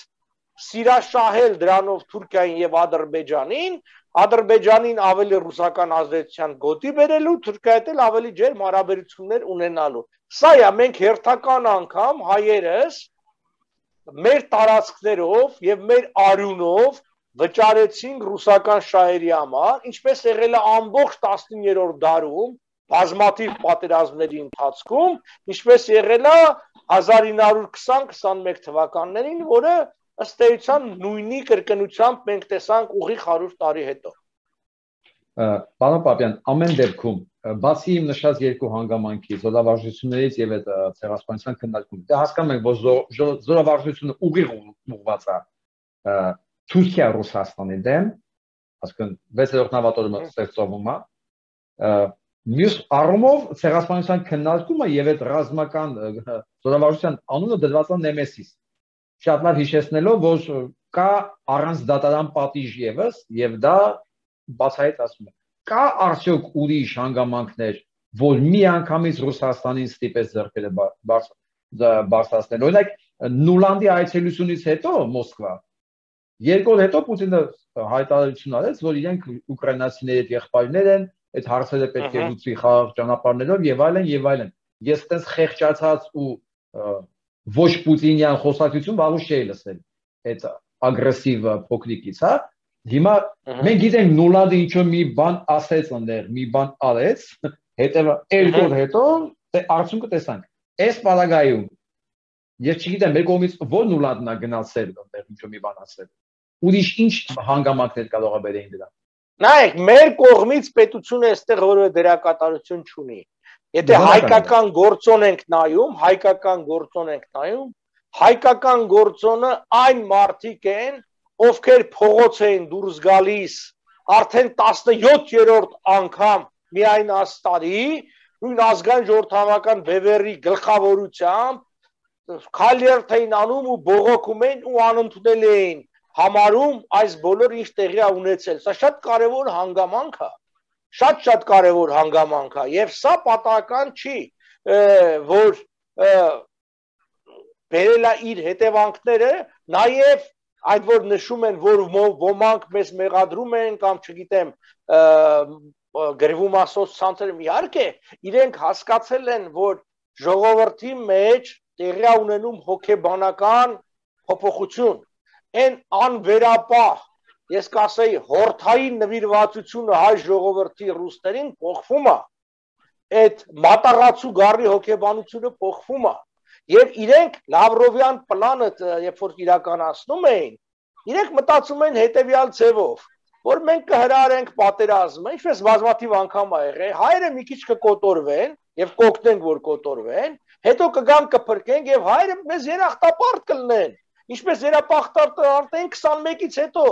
սիրաշահել դրանով Թուրքիային եւ Ադրբեջանին, Ադրբեջանին ավելի ռուսական ազդեցության գոտի բերելու, Թուրքիայի հետ ավելի ջերմ հարաբերություններ ունենալու։ Սա է, մենք հերթական անգամ հայերս մեր տարածքներով եւ մեր արյունով վճարեցին ռուսական շահերի համար, ինչպես եղել է ամբողջ տասնիններորդ դարում, բազմաթիվ պատերազմների ընթացքում, ինչպես եղել է հազար ինը հարյուր քսան քսանմեկ թվականներին, որը ըստ էության նույնի կրկնությամբ մենք տեսանք ուղիղ հարյուր տարի հետո։ Պարոն Պապյան, ամեն դեպքում, բացի իմ նշած երկու հանգամանքից, զորավարժություններից եւ այդ ցեղասպանության քննարկում, դե հասկանում ենք, որ զորավարժությունը ուղիղ ուղղված է Թուրքիա-Ռուսաստանի դեմ, ասկան վեցերորդ նավատորմը ստեղծվում է, մյուս առումով ցեղասպանության քննարկումը եւ այդ ռազմական զորավարժության անունը դրված է Նեմեսիս։ Շատ լավ հիշեցնելով, որ կա առանց դատարան պատիժ եւս եւ դա բացահայտ ասում է։ Կա արդյոք ուրիշ հանգամանքներ, որ մի անգամից Ռուսաստանին ստիպեց ձեռքերը բարձրացնել։ Օրինակ Նուլանդի այցելությունից հետո Մոսկվա երկու օր հետո Պուտինը հայտարարություն արեց, որ իրենք ուկրաինացիների հետ եղբայրներ են, այդ հարցերը պետք է լուծի խաղաղ ճանապարհներով եւ այլն եւ այլն։ Ես այդպես խեղճացած ու ոչ պուտինյան խոսակցություն վաղուց չէի լսել այդ ագրեսիվ փոքրիկից, հա։ Հիմա մենք գիտենք Նուլանդը ինչ-որ մի բան ասեց այնտեղ, մի բան արեց, հետո երկու օր հետո արդյունքը տեսանք։ Այս պարագայում ես չգիտեմ, մեր կողմից ո՞ր Նուլանդն է գնացել այնտեղ ինչ-որ մի բան ասել։ Ուրիշ ինչ հանգամանքներ կարող է բերեն դրա։ Նայեք, մեր կողմից պետությունը այստեղ որևէ դերակատարություն չունի։ Եթե հայկական գործոն ենք նայում, հայկական գործոն ենք նայում, հայկական գործոնը այն մարդիկ են, ովքեր փողոց էին դուրս գալիս արդեն տասնյոթերորդ անգամ միայն աստարի, նույն ազգային ժողովրդավարական բևեռի գլխավորությամբ քալերթ էին անում ու բողոքում էին ու անընդունել էին համարում այս բոլոր ինչ տեղի է ունեցել։ Սա շատ կարևոր հանգամանք է, շատ-շատ կարևոր հանգամանք է եւ սա պատահական չի, որ բերել է իր հետևանքները, նաեւ այդ որ նշում են, որ ոմանք մեզ մեղադրում են կամ չգիտեմ գրվում ասոց ցանցերում, իհարկե իրենք հասկացել են, որ ժողովրդի մեջ տեղի ունենում հոգեբանական փոփոխություն, այն անվերապահ, ես կասեի հորթային նվիրվածությունը հայ ժողովրդի ռուսներին փոխվում է, այդ մատաղացու գառի հոգեբանությունը փոխվում է, եւ իրենք Լավրովյան պլանը, երբ որ իրականացնում էին, իրենք մտածում են հետեւյալ ձևով, որ մենք կհրահարենք պատերազմը, ինչպես բազմաթիվ անգամ ա եղել, հայերը մի քիչ կկոտորվեն եւ կօգնենք, որ կոտորվեն, հետո կգան կփրկենք եւ հայերը մեզ երախտապարտ կլինեն, ինչպես երախտապարտ քսանմեկից հետո,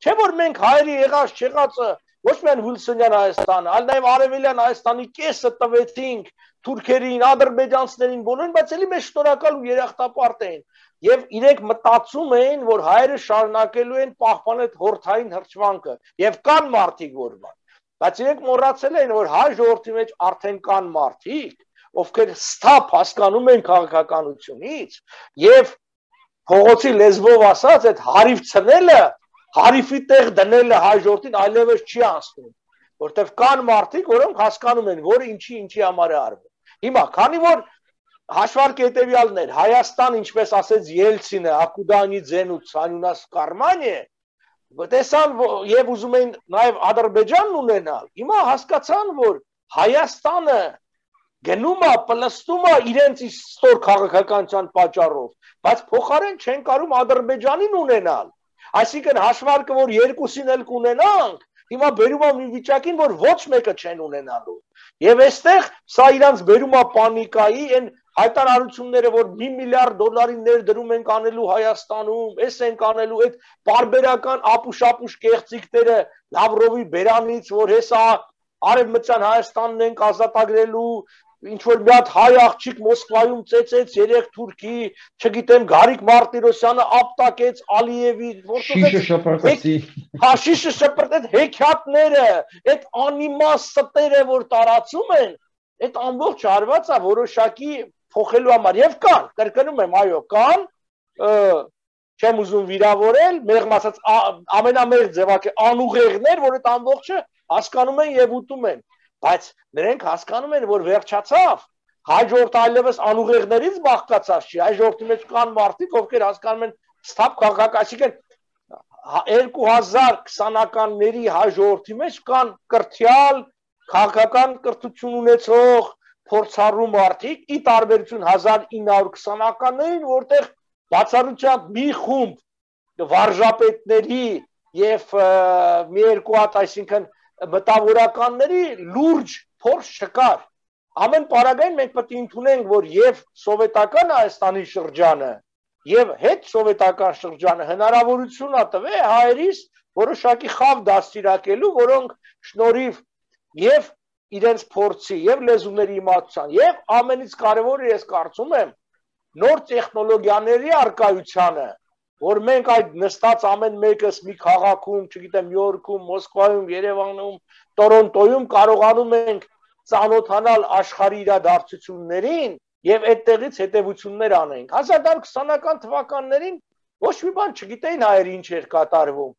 չէ որ մենք հայերի եղած չեղածը ոչ միայն Հուլսոնյան Հայաստանը, այլ նաեւ Արևելյան Հայաստանի կեսը տվեցինք թուրքերին, ադրբեջանցիներին, բոլորին, բայց էլի մեզ շնորհակալ ու երախտապարտ էին։ Եվ իրենք մտածում էին, որ հայերը շարունակելու են պահպանել հորթային հրճվանքը եւ կան մարդիկ որ բան, բայց իրենք մոռացել են, որ հայ ժողովրդի մեջ արդեն կան մարդիկ, ովքեր ստապ հասկանում են քաղաքականությունից եւ փողոցի լեզվով ասած այդ հարիվ ցնելը, հարիվի տեղ դնելը հայ ժողովրդին այլևս չի անցնում, որտեվ կան մարդիկ, որոնք հասկանում են, որ ինչի ինչի համար է արվում։ Հիմա, քանի որ հաշվարկը հետևյալն էր, Հայաստան, ինչպես ասեց Ելցինը, Ակուդանի ձենուց անունաս Կարմանիե, տեսան եւ ուզում էին նաեւ Ադրբեջանն ունենալ։ Հիմա հասկացան, որ Հայաստանը գնում է, պլստում է իրենց ստոր քաղաքականության պատճառով, բայց փոխարեն չեն կարող Ադրբեջանին ունենալ։ Այսինքն հաշվարկը, որ երկուսին էլ կունենանք, հիմա բերում է մի վիճակին, որ ոչ մեկը չեն ունենալու։ Եվ այստեղ սա իրանց բերում է պանիկայի, այն հայտարարությունները, որ մի միլիարդ դոլարի ներդրում ենք անելու Հայաստանում, էս ենք անելու, այդ բարբերական ապուշ-ապուշ կեղծիքները Լավրովի բերանից, որ հեսա Արևմտյան Հայաստանն ենք ազատագրելու, ինչ որ մի հատ հայ աղջիկ Մոսկվայում ծեծեց երեք թուրքի, չգիտեմ Գարիկ Մարտիրոսյանը ապտակեց Ալիևի, շիշը շպրտեցի, հա շիշը շպրտեց հեքիաթները, այդ անիմաստ ստերը, որ տարածում են, այդ ամբողջ արվածը որոշակի փոխելու համար եւ կան, կրկնում եմ, այո, կան, չեմ ուզում վիրավորել, մեղմ ասած ամենամեղ ձևակը անուղեղներ, որ այդ ամբողջը հասկանում են եւ ուտում են, բայց նրանք հասկանում են, որ վերջացավ, հայ ժողովուրդը այլևս անուղեղներից բաղկացած չի, հայ ժողովրդի մեջ կան մարդիկ, ովքեր հասկանում են ստապ քաղաքացիական երկու հազար քսանականների հայ ժողովրդի մեջ կան կրթյալ քաղաքական կրթություն ունեցող փորձառու մարդիկ, ի տարբերություն հազար ինը հարյուր քսանականներին, որտեղ բացառությամբ մի խումբ վարժապետների եւ մի երկու հատ, այսինքն մտավորականների լուրջ փորձ չկար։ Ամեն պարագային մենք պետք է ընդունենք, որ եւ սովետական Հայաստանի շրջանը եւ հետ սովետական շրջանը հնարավորություն ա տվել հայերիս որոշակի խավ դաստիարակելու, որոնք շնորհիվ եւ իրենց փորձի եւ լեզուների իմացության եւ ամենից կարեւորը ես կարծում եմ նոր տեխնոլոգիաների արկայությանը, որ մենք այդ նստած ամեն մեկս մի քաղաքում, չգիտեմ, Նյու Յորքում, Մոսկվայում, Երևանում, Տորոնտոյում կարողանում ենք ծանոթանալ աշխարհի իրադարձություններին եւ այդտեղից հետեւություններ անենք։ հազար քսանական թվականներին ոչ մի բան չգիտեին հայերը ինչ էր կատարվում։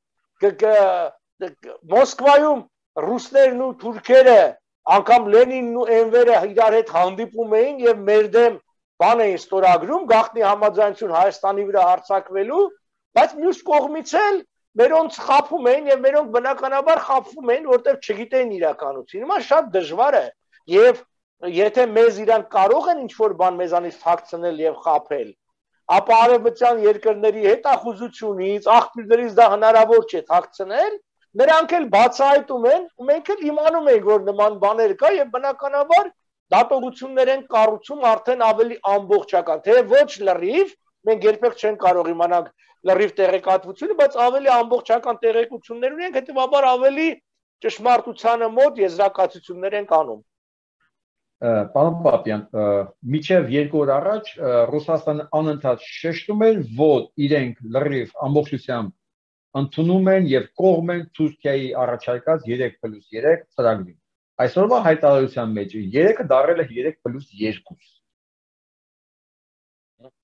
Մոսկվայում ռուսներն ու թուրքերը, անգամ Լենինն ու Էնվերը իրար հետ հանդիպում էին եւ մեր դեմ բան էին ստորագրում, գաղտնի համաձայնություն Հայաստանի վրա հարձակվելու, բայց մյուս կողմից էլ մերոնց խափում էին եւ մերոնք բնականաբար խափվում էին, որտեղ չգիտեին իրականություն։ Հիմա շատ դժվար է եւ եթե մեզ իրանք կարող են ինչ-որ բան մեզանից թաքցնել եւ խափել, ապա արևմտյան երկրների հետախուզությունից, աղբյուրներից դա հնարավոր չէ թաքցնել, նրանք էլ բացահայտում են, ու մենք էլ իմանում ենք, որ նման բաներ կա եւ բնականաբար դատողություններ են կառուցում արդեն ավելի ամբողջական, թե ոչ լրիվ, մենք երբեք չենք կարող իմանալ լրիվ տեղեկատվությունը, բայց ավելի ամբողջական տեղեկություններ ունենք, հետեւաբար ավելի ճշմարտությանը մոտ եզրակացություններ են անում։ Պարոն Պապյան, միջև երկու օր առաջ Ռուսաստանը անընդհատ շեշտում էր, որ իրենք լրիվ ամբողջությամբ ընդունում են եւ կողմ են Թուրքիայի առաջարկած երեք պլյուս երեք ծրագրին։ Այսօրվա հայտարարության մեջ երեքը դարել է երեք պլյուս երկու։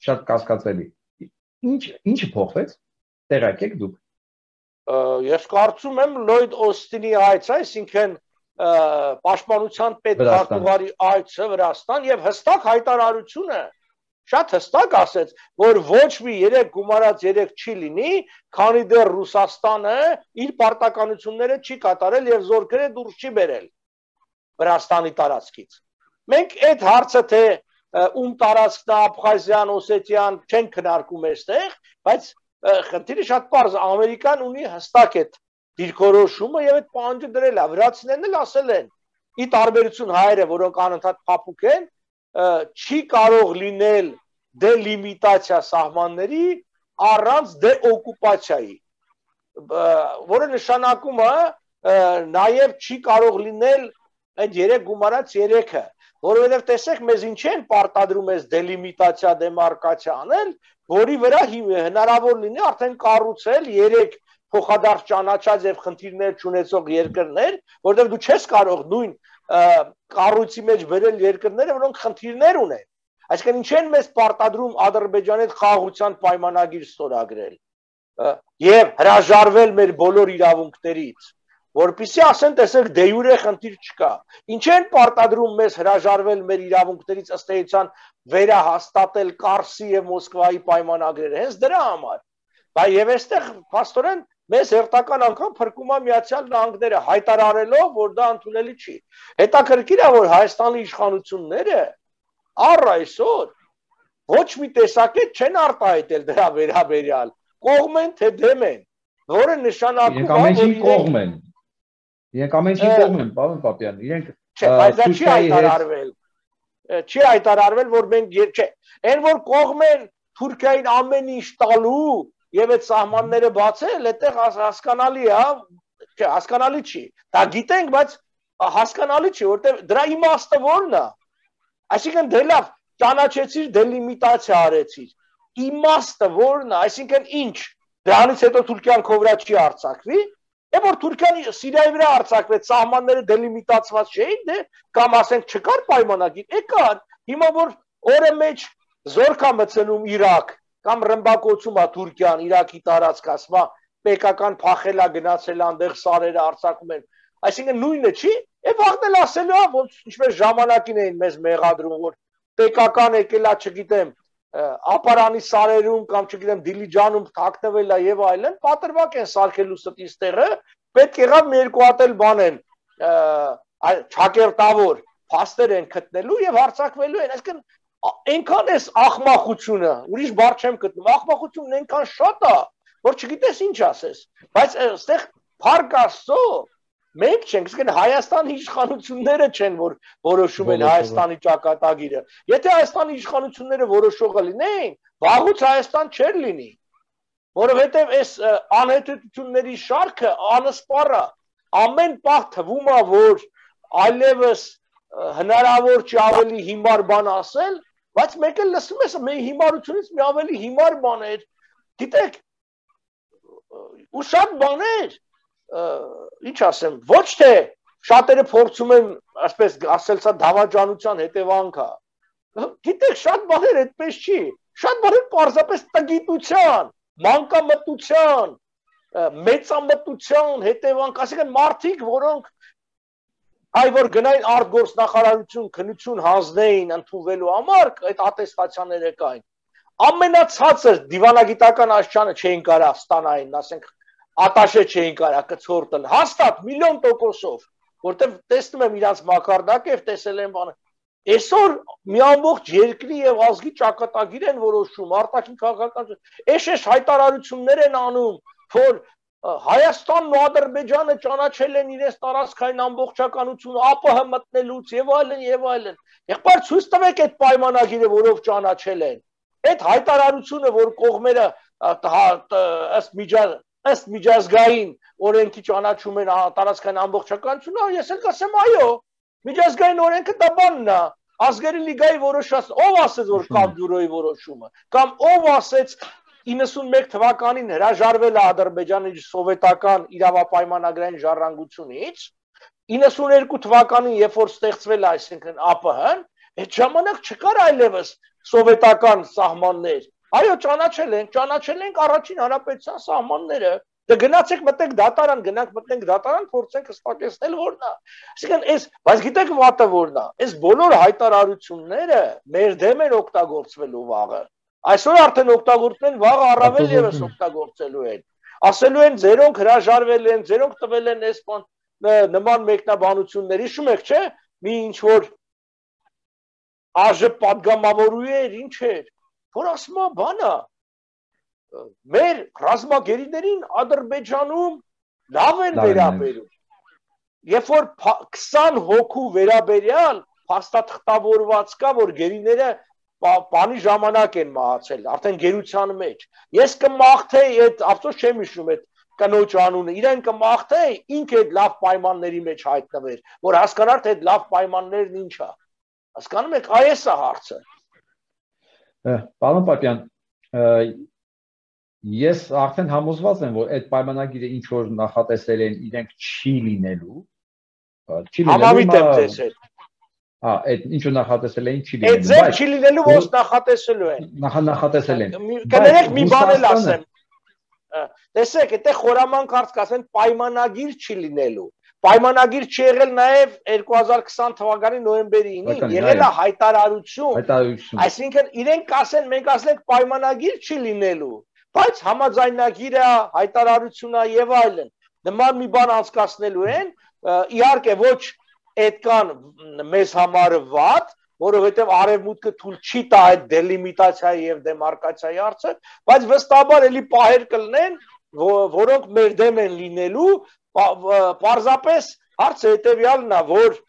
Շատ կասկածելի։ Ինչ ինչը փոխվեց։ Տեղյակ եք դուք։ Ես կարծում եմ Լոյդ Օստինի հայց, այսինքն պաշտպանության պետքարտուղարի այցը Վրաստան եւ հստակ հայտարարությունը շատ հստակ ասեց, որ ոչ մի երեք գումարած երեք չի լինի, քանի դեռ Ռուսաստանը իր պարտականությունները չի կատարել եւ զորքերը դուրս չի բերել Վրաստանի տարածքից։ Մենք այդ հարցը թե ում տարածքն է Աբխազիան, Օսետիան չեն քննարկում այստեղ, բայց խնդիրը շատ պարզ է, Ամերիկան ունի հստակ այդ դիրքորոշումը եւ այդ պահանջը դրել է, վրացիներն էլ ասել են, ի տարբերություն հայերը, որոնք անընդհատ փափուկ են, չի կարող լինել դելիմիտացիա սահմանների առանց դեօկուպացիայի, որը նշանակում է նաեւ չի կարող լինել այդ երեք գումարած երեքը, որովհետեւ տեսեք մեզ ինչ են պարտադրում այս դելիմիտացիա, դեմարկացիա անել, որի վրա հնարավոր լինի արդեն կառուցել երեք փոխադարձ ճանաչած եւ խնդիրներ չունեցող երկրներ, որտեղ դու չես կարող նույն կառույցի մեջ բերել երկրները, որոնք խնդիրներ ունեն։ Այսինքն ինչ են մեզ պարտադրում Ադրբեջանի հետ խաղաղության պայմանագիր ստորագրել եւ հրաժարվել մեր բոլոր իրավունքներից, որպեսզի ասեն, տեսեք, դե յուրե խնդիր չկա։ Ինչ են պարտադրում մեզ հրաժարվել մեր իրավունքներից ըստ էության վերահաստատել Կարսի եւ Մոսկվայի պայմանագրերը, հենց դրա համար։ Բայց եւ այստեղ փաստորեն մեզ հերթական անգամ փրկում է Միացյալ Նահանգները հայտարարելով, որ դա ընդունելի չի։ Հետաքրքիր է, որ Հայաստանի իշխանությունները առ այսօր ոչ մի տեսակետ չեն արտահայտել դրա վերաբերյալ, կողմ են թե դեմ են, որը նշանակում է, որ իրենք կողմ են։ Իրենք ամենին կողմ են, պարոն Պապյան, իրենք չէ, բայց դա չի հայտարարվել։ Չի հայտարարվել, որ մենք չէ, այն որ կողմ են Թուրքիային ամեն ինչ տալու եւ այդ սահմանները բացել, այդտեղ հասկանալի է, չէ, հասկանալի չի։ Դա գիտենք, բայց հասկանալի չի, որտեղ դրա իմաստը ո՞րն է։ Այսինքն դե լավ, ճանաչեցիր, դելիմիտացիա արեցիր։ Իմաստը ո՞րն է, այսինքն ինչ։ Դրանից հետո Թուրքիան քո վրա չի արձակվի, եւ որ Թուրքիան Սիրիայի վրա արձակվեց, սահմանները դելիմիտացված չէին, դե կամ ասենք չկար պայմանագիր, եկար։ Հիմա որ օրը մեջ զորք է մտցնում Իրաք, կամ ռմբակոծում է Թուրքիան Իրաքի տարածք, ասում է պետական փախելա գնացել այնտեղ սարերը արձակում են։ Այսինքն նույնը չի, եւ վաղտել ասելու է, ոնց ինչպես ժամանակին էին մեզ մեղադրում, որ պետական եկելա, չգիտեմ, ապարանի սարերում կամ չգիտեմ Դիլիջանում թաքնվել է եւ այլն, պատրվակ են սարքելու ստից տեղը, պետք եղավ մի երկու հատ էլ բան են, ճակերտավոր փաստեր են գտնելու եւ հարձակվելու են, այսինքն այնքան էս ախմախությունը, ուրիշ բառ չեմ գտնում, ախմախությունն այնքան շատ է, որ չգիտես ինչ ասես, բայց այստեղ փառք Աստծո մենք չենք, այսինքն Հայաստանի իշխանությունները չեն, որ որոշում են Հայաստանի ճակատագիրը։ Եթե Հայաստանի իշխանությունները որոշողը լինեին, վաղուց Հայաստան չէր լինի, որովհետև այս անհետությունների շարքը անսպառ է, ամեն պահ թվում է, որ այլևս հնարավոր չի ավելի հիմար բան ասել, բայց մեկ էլ լսում ես մեր հիմարությունից մի ավելի հիմար բաներ, գիտեք, ու շատ բաներ, ինչ ասեմ, ոչ թե շատերը փորձում են, ասպես ասել, սա դավաճանության հետևանք է, գիտեք, շատ բաներ այդպես չի, շատ բաներ պարզապես տգիտության, մանկամտության, մեծամտության հետևանք, ասիկան մարդիկ, որոնք այ որ գնային արտգործնախարարություն, քննություն հանձնեին ընդունվելու համար, այդ ատեստացիաները կային, ամենացածր դիվանագիտական աշխարհը չէին կարող ստանային, ասենք ատաշե չէին կարող կցորտել, հաստատ միլիոն տոկոսով, որտեղ տեսնում եմ իրանց մակարդակը եւ տեսել եմ բանը։ Այսօր մի ամբողջ երկրի եւ ազգի ճակատագիր են որոշում, արտաքին քաղաքական, էշ-էշ հայտարարություններ են անում, որ Հայաստանն ու Ադրբեջանը ճանաչել են իրենց տարածքային ամբողջականությունը ԱՊՀ մտնելուց եւ այլն եւ այլն։ Եղբայր ցույց տվեք այդ պայմանագիրը, որով ճանաչել են։ Այդ հայտարարությունը, որ կողմերը ըստ միջազգային ըստ միջազգային օրենքի ճանաչում են տարածքային ամբողջականությունը, ես էլ կասեմ այո, միջազգային օրենքը դա բանն է, ազգերի լիգայի որոշած, ով ասեց որ կամ բյուրոյի որոշումը, կամ ով ասեց իննսունմեկ թվականին հրաժարվել է Ադրբեջանը իր սովետական իրավապայմանագրային ժառանգությունից, իննսուներկու թվականին երբ որ ստեղծվել է, այսինքն ԱՊՀ-ն, այդ ժամանակ չկար այլևս սովետական սահմաններ։ Այո, ճանաչել են, ճանաչել ենք առաջին հանրապետության սահմանները, Դե գնացեք մտենք դատարան, գնանք մտնենք դատարան, փորձենք հստակեցնել որն է։ Այսինքն այս, բայց գիտեք վատը որն է։ Այս բոլոր հայտարարությունները մեր դեմ են օգտագործվելու վաղը։ Այսօր արդեն օգտագործում են, վաղը առավել եւս օգտագործելու են։ Ասելու են ձերոնք հրաժարվել են, ձերոնք տվել են այս բան նման մեկնաբանություններ, հիշում եք, չէ՞, մի ինչ որ ԱԺ պատգամավորու էր, ինչ էր, որ ասում է բանը, մեր ռազմագերիներին Ադրբեջանում լավ են վերաբերում, երբ որ քսան հոգու վերաբերյալ փաստաթղթավորված կա, որ գերիները բանի ժամանակ են մահացել, արդեն գերության մեջ, ես կմաղթեի, այդ ափսոս չեմ հիշում այդ կնոջ անունը, իրեն կմաղթեի, ինքը այդ լավ պայմանների մեջ հայտնվեր, որ հասկանար, թե այդ լավ պայմաններն ինչ է։ Հասկանում եք, այս է հարցը։ Պարոն Պապյան, ես արդեն համոզված եմ, որ այդ պայմանագիրը ինչ որ նախատեսել են, իրենք չի լինելու։ Համավիտ եմ ձեզ հետ։ Հա, այդ ինչ որ նախատեսել էին չի լինելու։ Այդ ձեր չի լինելու, ոնց նախատեսելու են։ Նախատեսել են։ Կներեք մի բան էլ ասեմ։ Տեսեք, այդտեղ խորամանկ հարց կասեն պայմանագիր չի լինելու։ Պայմանագիր չի եղել նաև երկու հազար քսան թվականի նոյեմբերի ինին, եղել է հայտարարություն։ Այսինքն իրենք կասեն, մենք ասենք պայմանագիր չի լինելու, բայց համաձայնագիրը, հայտարարությունը եւ այլն։ Նման մի բան անցկացնելու են, իհարկե ոչ այդքան մեզ համար վատ, որովհետև արևմուտքը թույլ չի տա այդ դելիմիտացիայի եւ դեմարկացիայի հարցը, բայց վստահաբար էլի պահեր կլինեն, որոնք մեր դեմ են լինելու, պարզապես հարցը հետեւյալն է, որ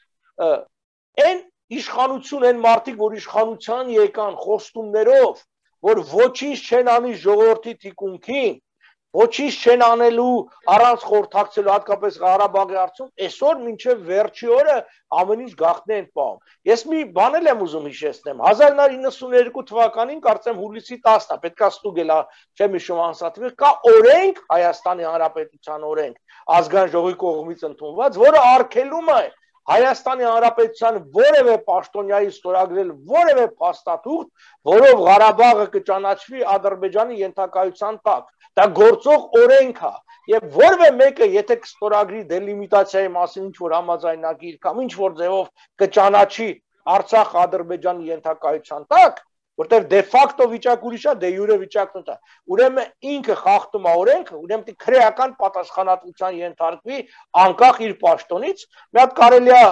այն իշխանություն են մարդիկ, որ իշխանության եկան խոստումներով, որ ոչինչ չեն անի ժողովրդի թիկունքին, ոչինչ չեն անելու առանց խորհրդակցելու, հատկապես Ղարաբաղի հարցում, այսօր մինչև վերջի օրը ամեն ինչ գաղտնի են պահում։ Ես մի բան եմ ուզում հիշեցնեմ, հազար նոր իննսուններկու թվականին կարծեմ հուլիսի տասնը, պետք է ստուգել, չեմ հիշում անսատվել, կա օրենք, Հայաստանի Հանրապետության օրենք, ազգային ժողովի կողմից ընդունված, որը արգելում է Հայաստանի Հանրապետության որևէ պաշտոնյայի ստորագրել որևէ փաստաթուղթ, որով Ղարաբաղը կճանաչվի Ադրբեջանի ենթակայության տակ։ Դա գործող օրենք է, եւ որևէ մեկը եթե կստորագրի դելիմիտացիայի մասին ինչ որ համաձայնագիր կամ ինչ որ ձևով կճանաչի Արցախ Ադրբեջանի ենթակայության տակ, որտեղ դե ֆակտո վիճակ ուրիշ է, դե յուրե վիճակն է։ Ուրեմն ինքը խախտում է օրենքը, ուրեմն քրեական պատասխանատվության ենթարկվի անկախ իր պաշտոնից։ Մի հատ կարելի է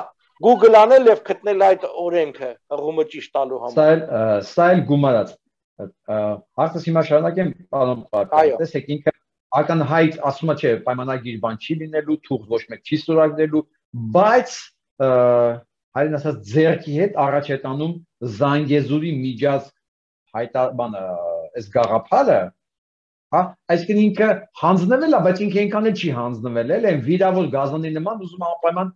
Google անել եւ գտնել այդ օրենքը, հղումը ճիշտ տալու համար։ Սա էլ սա էլ գումարած։ Հարցը հիմա շարունակեմ, պարոն Պապյան։ Տեսեք, ինքը ակնհայտ ասում է, չէ, պայմանագիր բան չի լինելու, թուղթ ոչ մեկ չի ստորագրելու, բայց հայրեն ասած ձերքի հետ առաջ է տանում Զանգեզուրի միջած հայտարարանը, այս գաղափարը, հա, այսինքն ինքը հանձնվել է, բայց ինքը այնքան էլ չի հանձնվել, էլ են վիրավոր գազանի նման ուզում անպայման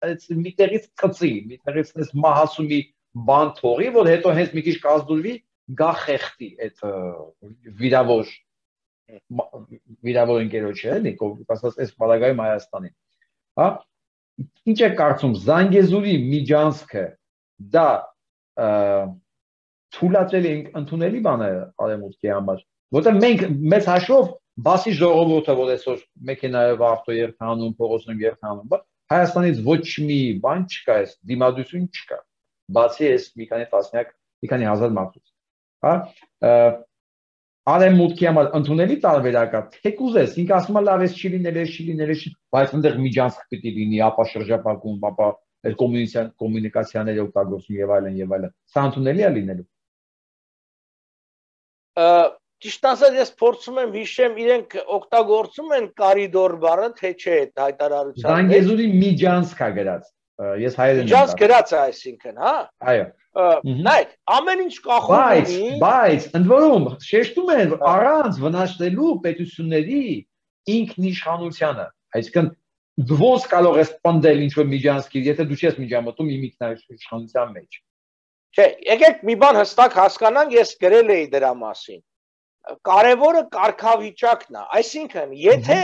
այս միտեղից ծծի, միտեղից այս մահասումի բան թողի, որ հետո հենց մի քիչ կազդուրվի, գա խեղտի այդ վիրավոր վիրավոր ընկերոջը, էլի, ասած այս բալագայում Հայաստանին, հա, ինչ է կարծում Զանգեզուրի միջանցքը դա թույլատրել ենք ընդունելի բան է արևմուտքի համար, որտեղ մենք մեծ հաշվով բասի ժողովուրդը, որ այսօր մեքենայով ավտո երթանում, փողոցներում երթանում, Հայաստանից ոչ մի բան չկա, այս դիմադրություն չկա, բացի այս մի քանի տասնյակ, մի քանի հազար մարդուց, հա, արևմուտքի համար ընդունելի տարբերակը, թեկուզ ես, ինքը ասում է լավ էս չի լինել, էս չի լինել, էս չի, բայց այնտեղ միջանցք պիտի լինի, ապա շրջապատում, ապա այդ կոմունիկացիաները օգտագործում եւ այլն եւ այլն։ Սա ընդունելի է լինելու։ Ճիշտ ասած, ես փորձում եմ հիշեմ, իրենք օգտագործում են կարիդոր բառը, թե չէ այդ հայտարարության։ Զանգեզուրի միջանցք է գրած։ Ես հայերեն եմ։ Միջանցք գրած է, այսինքն, հա։ Այո։ Նայեք, ամեն ինչ կախում ունի, բայց ընդ որում շեշտում են առանց վնասելու պետությունների ինքնիշխանությանը, այսինքն ոնց կարող ես պնդել ինչ-որ միջանցքի, եթե դու չես միջամտում իմ ինքնիշխանության մեջ։ Չէ, եկեք մի բան հստակ հասկանանք, ես գրել էի դրա մասին։ Կարևորը կարգավիճակն է, այսինքն եթե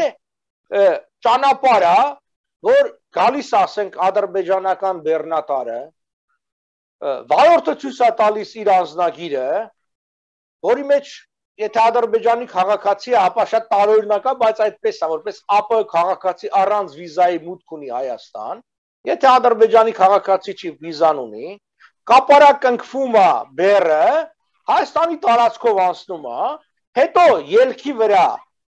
ճանապարհը, որ գալիս ասենք ադրբեջանական բեռնատարը վարորդը ցույց է տալիս իր անձնագիրը, որի մեջ եթե Ադրբեջանի քաղաքացի է, ապա շատ տարօրինակ է, բայց այդպես է, որպես ԱՊՀ քաղաքացի առանց վիզայի մուտք ունի Հայաստան, եթե Ադրբեջանի քաղաքացի չի վիզան ունի, կապարակնքվում է բեռը, Հայաստանի տարածքով անցնում է, հետո ելքի վրա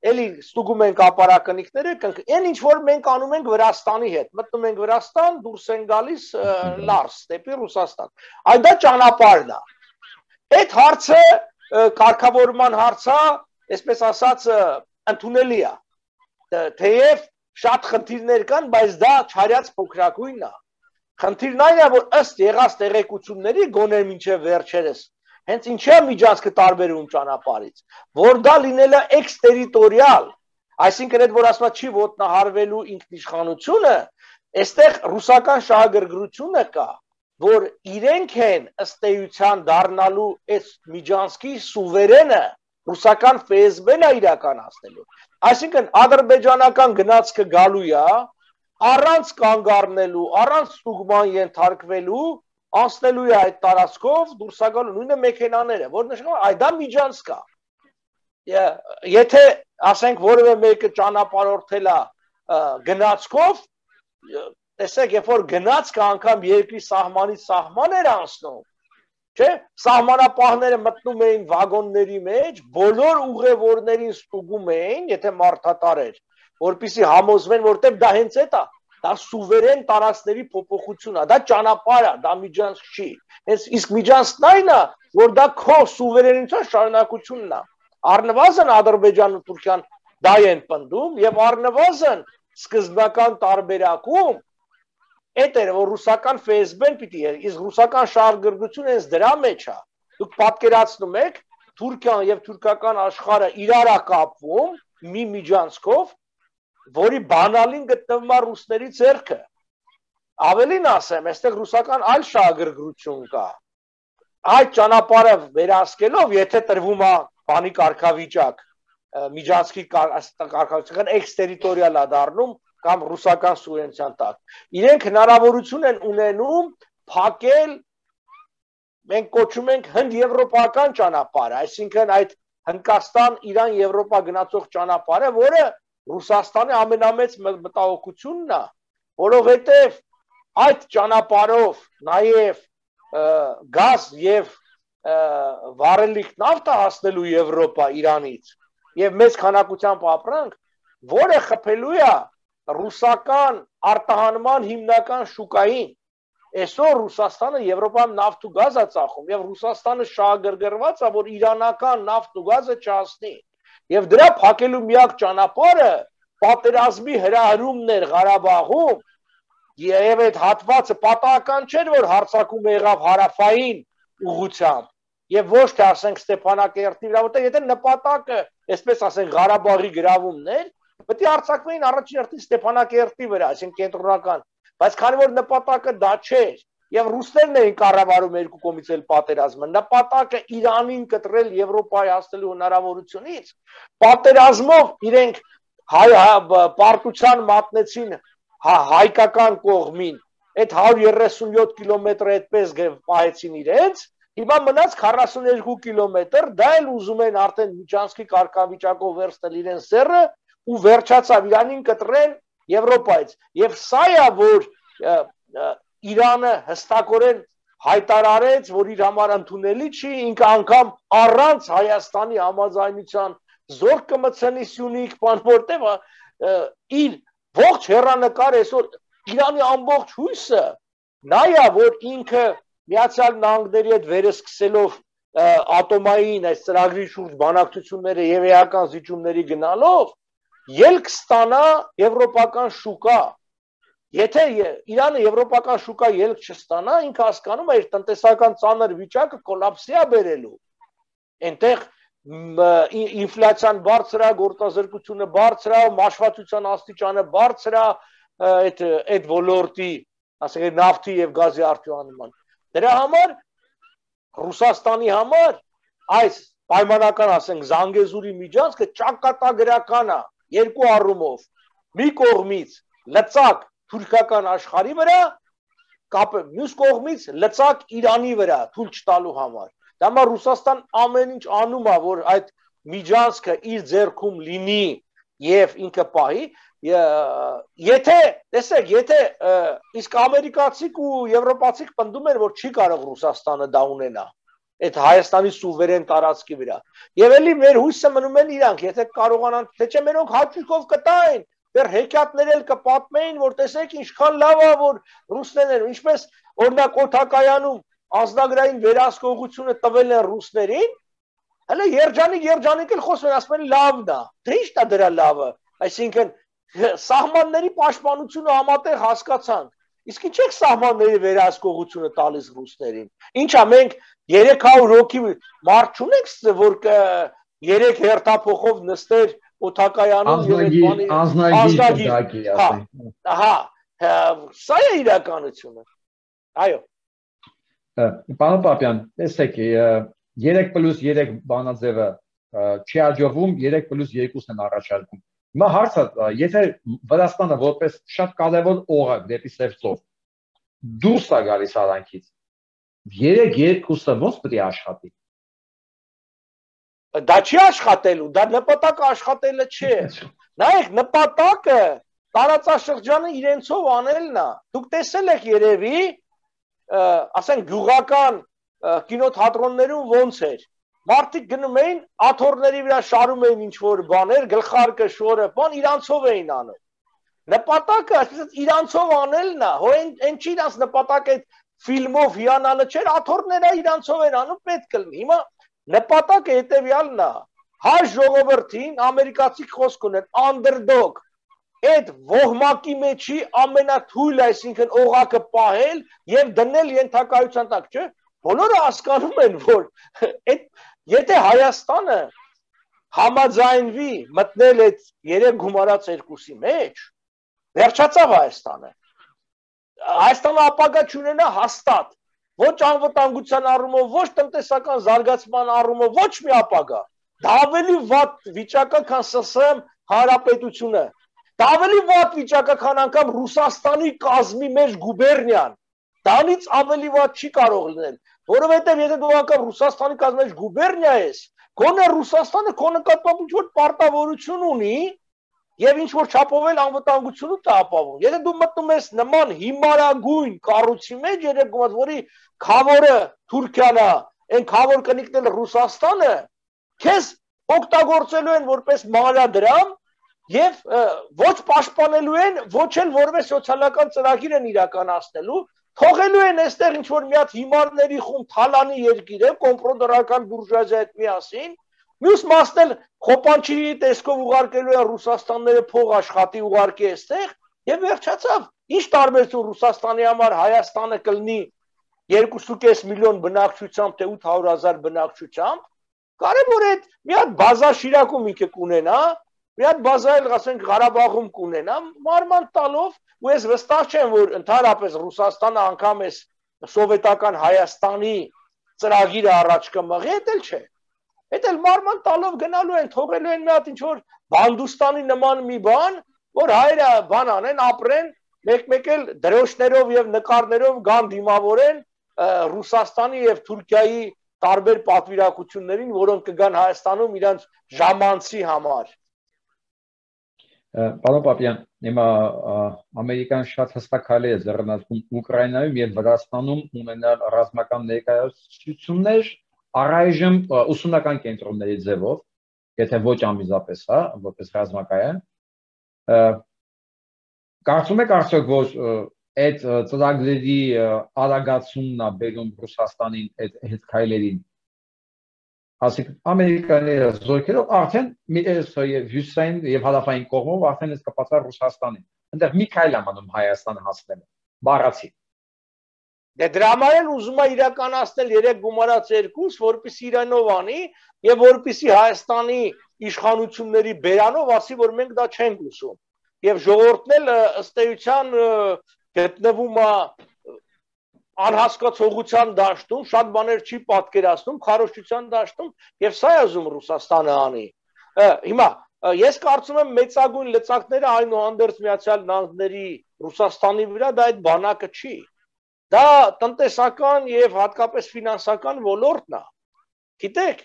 էլի ստուգում են կապարակնիկները, այն ինչ որ մենք անում ենք Վրաստանի հետ, մտնում ենք Վրաստան, դուրս են գալիս Լարս, դեպի Ռուսաստան։ Այդ դա ճանապարհն է։ Այդ հարցը կարգավորման հարց է, այսպես ասած, ընդունելի է։ Թեև շատ խնդիրներ կան, բայց դա չարյաց փոքրակույնն է։ Խնդիրն այն է, որ ըստ եղած տեղեկությունների գոնե մինչև վերջերս հենց ինչի է միջանցքը տարբերում ճանապարհից, որ դա լինել է էքստերիտորիալ, այսինքն այդ որ ասма չի ոտնահարվելու ինքնիշխանությունը, այստեղ ռուսական շահագրգռությունը կա, որ իրենք են ըստ էության դառնալու այս միջանցքի սուվերենը, ռուսական Ֆ S B-ն է իրականացնելու։ Այսինքն ադրբեջանական գնացքը գալու է, առանց կանգ առնելու, առանց ստուգման ենթարկվելու, անցնելու է այդ տարածքով, դուրս է գալու նույնը մեքենաները, որ նշանակում է, այ դա միջանցք է։ Եթե ասենք որևէ մեկը ճանապարհորդել է գնացքով, տեսեք, երբ որ գնացքը անգամ երկրի սահմանից սահման էր անցնում, չէ՞, սահմանապահները մտնում էին վագոնների մեջ, բոլոր ուղևորներին ստուգում էին, եթե մարդատար էր, որպեսզի համոզվեն, որտեղ դա հենց այդ է, դա սուվերեն տարածքների փոփոխություն է, դա ճանապարհ է, դա միջանցք չի։ Հենց իսկ միջանցքն այն է, որ դա քո սուվերենության շարունակությունն է։ Առնվազն Ադրբեջանն ու Թուրքիան դա են պնդում եւ առնվազն սկզբնական տարբերակում այդ էր, որ ռուսական Ֆ S B-ն պիտի էր, իսկ ռուսական շահագրգռությունը հենց դրա մեջ է։ Դուք պատկերացնում եք, Թուրքիան եւ թուրքական աշխարհը իրար է կապվում մի միջանցքով, որի բանալին գտնվում է ռուսների ձեռքը։ Ավելին ասեմ, այստեղ ռուսական այլ շահագրգռություն կա։ Այդ ճանապարհը վերահսկելով, եթե տրվում է բանի կարգավիճակ, միջանցքի կարգավիճակն էքստերիտորիալ է դառնում կամ ռուսական սուվերենության տակ։ Իրենք հնարավորություն են ունենում փակել, մենք կոչում ենք հնդ-եվրոպական ճանապարհը, այսինքն այդ Հնդկաստան-Իրան-Եվրոպա գնացող ճանապարհը, որը Ռուսաստանի ամենամեծ մտահոգությունն է, որովհետև այդ ճանապարհով նաև գազ եւ վառելիք նավթ է հասնելու Եվրոպա Իրանից եւ մեծ քանակությամբ ապրանք, որը խփելու է ռուսական արտահանման հիմնական շուկային։ Այսօր Ռուսաստանը Եվրոպայում նավթ ու գազ է ծախում եւ Ռուսաստանը շահագրգռված է, որ իրանական նավթ ու գազը չհասնի։ Եվ դրա փակելու միակ ճանապարհը պատերազմի հրահրումն էր Ղարաբաղում, եւ այդ հատվածը պատահական չէր, որ հարձակում եղավ հարավային ուղղությամբ, եւ ոչ թե ասենք Ստեփանակերտի վրա, որտեղ եթե նպատակը, այսպես ասենք, Ղարաբաղի գրավումն էր, պետք է հարձակվեին առաջին հերթին Ստեփանակերտի վրա, այսինքն կենտրոնական, բայց քանի որ նպատակը դա չէր, եւ ռուսներն էին կառավարում երկու կողմից էլ պատերազմը, նպատակը Իրանին կտրել Եվրոպայի հասնելու հնարավորությունից, պատերազմով իրենք պարտության մատնեցին հայկական կողմին, այդ հարյուր երեսունյոթ կիլոմետրը այդպես պահեցին իրենց, հիմա մնաց քառասունուերկու կիլոմետր, դա էլ ուզում են արդեն միջանցքի կարգավիճակով վերցնել իրենց սեռը ու վերջացավ Իրանին կտրեն Եվրոպայից, եւ սա է, որ Իրանը հստակորեն հայտարարեց, որ իր համար ընդունելի չի, ինքը անգամ առանց Հայաստանի համաձայնության զորք կմցնի Սյունիք, բան որտեղ իր ողջ հեռանկար այսօր Իրանի ամբողջ հույսը նա է, որ ինքը Միացյալ Նահանգների հետ վերսկսելով ատոմային այս ծրագրի շուրջ բանակցությունները եւ էական զիջումների գնալով ելք ստանա եվրոպական շուկա։ Եթե Իրանը եվրոպական շուկա ելք չստանա, ինքը հասկանում է իր տնտեսական ծանր վիճակը կոլապսի է բերելու։ Այնտեղ ինֆլյացիան բարձր է, գործազրկությունը բարձր է, մաշվածության աստիճանը բարձր է, այդ այդ ոլորտի, ասենք նավթի եւ գազի արտահանման։ Դրա համար Ռուսաստանի համար այս պայմանական, ասենք, Զանգեզուրի միջանցքը ճակատագրական է երկու առումով։ Մի կողմից լծակ թուրքական աշխարհի վրա, կապը մյուս կողմից լծակ Իրանի վրա թույլ չտալու համար։ Դա համար Ռուսաստան ամեն ինչ անում է, որ այդ միջանցքը իր ձեռքում լինի եւ ինքը պահի, եթե, տեսեք, եթե իսկ ամերիկացիք ու եվրոպացիք պնդում են, որ չի կարող Ռուսաստանը դա ունենա, այդ Հայաստանի սուվերեն տարածքի վրա։ Եվ էլի մեր հույսը մնում են իրանք, եթե կարողանան, թե չէ մերոնք հաճույքով կտային, դեռ հեքիաթներ էլ կպատմեին, որ տեսեք ինչքան լավ է, որ ռուսներն, ինչպես օրինակ օդակայանում անձնագրային վերահսկողությունը տվել են ռուսներին, հələ երջանիկ երջանիկ էլ խոսում են, ասում են լավն է, թե ի՞նչն է դրա լավը, այսինքն սահմանների պաշտպանությունը համատեղ հասկացանք, իսկ ինչ եք սահմանների վերահսկողությունը տալիս ռուսներին, ինչա մենք երեք հարյուր հոգի մարդ չունենք, որ երեք հերթափոխով նստեր օդակայանում եւ ազնագիր, ահա, սա է իրականությունը, այո։ Պարոն Պապյան, տեսեք, երեք պլյուս երեք բանաձևը չի հաջողվում, երեք պլյուս երկուսն են առաջարկում։ Հիմա հարցը, եթե Վրաստանը որպես շատ կարևոր օղակ դեպի Սև ծով դուրս է գալիս արանքից, երեք երկուսը ո՞նց պետք է աշխատի։ Դա չի աշխատելու, դա նպատակը աշխատելը չէ։ Նայեք, նպատակը տարածաշրջանը իրենցով անելն է։ Դուք տեսել եք երևի, ասենք գյուղական կինոթատրոններում ոնց էր։ Մարդիկ գնում էին աթոռների վրա շարում էին ինչ-որ բաներ, գլխարկը, շորը, բան իրանցով էին անում։ Նպատակը այսպես իրանցով անելն է, հո այն չի իրանց նպատակը այդ ֆիլմով հիանալը չէր, աթոռները իրանցով են անում, պետք է լինի։ Հիմա նպատակը հետևյալն է, հայ ժողովրդին ամերիկացի խոսք ունեն, underdog, այդ ոհմակի մեջի ամենաթույլ, այսինքն օղակը պահել եւ դնել ենթակայության տակ, չէ՞։ Բոլորը հասկանում են, որ այդ եթե Հայաստանը համաձայնվի մտնել այդ երեք գումարած երկուսի մեջ, վերջացավ Հայաստանը։ Հայաստանը ապագա չունենա հաստատ, ոչ անվտանգության առումով, ոչ տնտեսական զարգացման առումով, ոչ մի ապագա։ Դա ավելի վատ վիճակը, քան ՍՍՍՐ հանրապետությունը։ Դա ավելի վատ վիճակը, քան անգամ Ռուսաստանի կազմի մեջ գուբերնիան։ Դրանից ավելի վատ չի կարող լինել, որովհետև եթե դու անգամ Ռուսաստանի կազմի մեջ գուբերնիա ես, գոնե Ռուսաստանը քո նկատմամբ ինչ-որ պարտավորություն ունի եւ ինչ-որ չափով էլ անվտանգությունը տա ապահովում։ Եթե դու մտնում ես նման հիմարագույն կառույցի մեջ, երեք գումարած, որի քավորը Թուրքիան է, այն քավոր կնիկնել Ռուսաստանը, քեզ օգտագործելու են որպես մանրադրամ եւ ոչ պաշտպանելու են, ոչ էլ որպես սոցիալական ծրագիր են իրականացնելու, թողելու են այստեղ ինչ որ մի հատ հիմարների խումբ թալանի երկիրը, կոմպրոդորական բուրժուազիա հետ միասին, մյուս մասն էլ խոպանչի տեսքով ուղարկելու են Ռուսաստանները փող աշխատի ուղարկի այստեղ եւ վերջացավ։ Ինչ տարբերություն Ռուսաստանի համար Հայաստանը կլինի երկու կես միլիոն բնակչությամբ թե ութ հարյուր հազար բնակչությամբ, կարևոր է մի հատ բազա Շիրակում ինքը կունենա, մի հատ բազա էլ ասենք Ղարաբաղում կունենա, մարման տալով, ու ես վստահ չեմ, որ ընդհանրապես Ռուսաստանը անգամ էս սովետական Հայաստանի ծրագիրը առաջ կմղի, դա էլ չէ։ Դա էլ մարման տալով գնալու են, թողելու են մի հատ ինչ որ Բանդուստանի նման մի բան, որ հայերը բան անեն, ապրեն, մեկ-մեկ էլ դրոշներով եւ նկարներով գան դիմավորեն Ռուսաստանի եւ Թուրքիայի տարբեր պատվիրակություններին, որոնք կգան Հայաստանում իրանց ժամանցի համար։ Պարոն Պապյան, հիմա Ամերիկան շատ հստակալի է ձեռնարկում Ուկրաինայում եւ Վրաստանում ունենալ ռազմական ներկայացություններ առայժմ ուսումնական կենտրոնների ձևով, եթե ոչ անմիջապես, հա, որպես ռազմակայան։ Կարծում եք արդյոք, որ այդ ծրագրերի արագացումն է բերում Ռուսաստանին այդ հետ քայլերին։ Ասիկ Ամերիկայի զորքերով արդեն հյուսային եւ հարավային կողմով արդեն էս կապացա Ռուսաստանին։ Այնտեղ մի քայլ է մնում Հայաստանը հասնելը։ Բառացի։ Դե դրա համար էլ ուզում է իրականացնել երեք գումարած երկուս, որպեսզի իրանով անի եւ որպեսզի Հայաստանի իշխանությունների բերանով ասի, որ մենք դա չենք ուզում։ Եվ ժողովուրդն էլ ըստ էության գտնվում է անհասկացողության դաշտում, շատ բաներ չի պատկերացնում, քարոզչության դաշտում եւ սա է ուզում Ռուսաստանը անի։ Հիմա ես կարծում եմ մեծագույն լծակները այնուհանդերձ Միացյալ Նահանգների Ռուսաստանի վրա դա այդ բանակը չի։ Դա տնտեսական եւ հատկապես ֆինանսական ոլորտն է։ Գիտեք,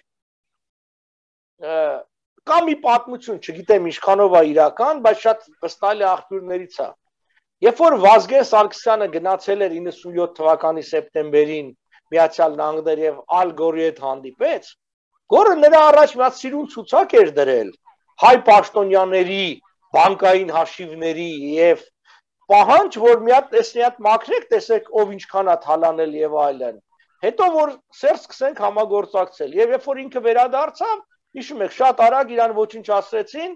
կա մի պատմություն, չգիտեմ ինչքանով է իրական, բայց շատ վստահ է աղբյուրներից է։ Երբ որ Վազգեն Սարգսյանը գնացել էր իննսունյոթ թվականի սեպտեմբերին Միացյալ Նահանգներ եւ Ալ Գորի հետ հանդիպեց, Գորը նրա առաջ մի հատ սիրուն ցուցակ էր դրել հայ պաշտոնյաների բանկային հաշիվների եւ պահանջ, որ մի հատ տեսնի հատ մաքրեք, տեսեք ով ինչքան է թալանել եւ այլն։ Հետո որ սեր սկսենք համագործակցել եւ երբ որ ինքը վերադարձավ, հիշում եք, շատ արագ իրան ոչինչ ասացին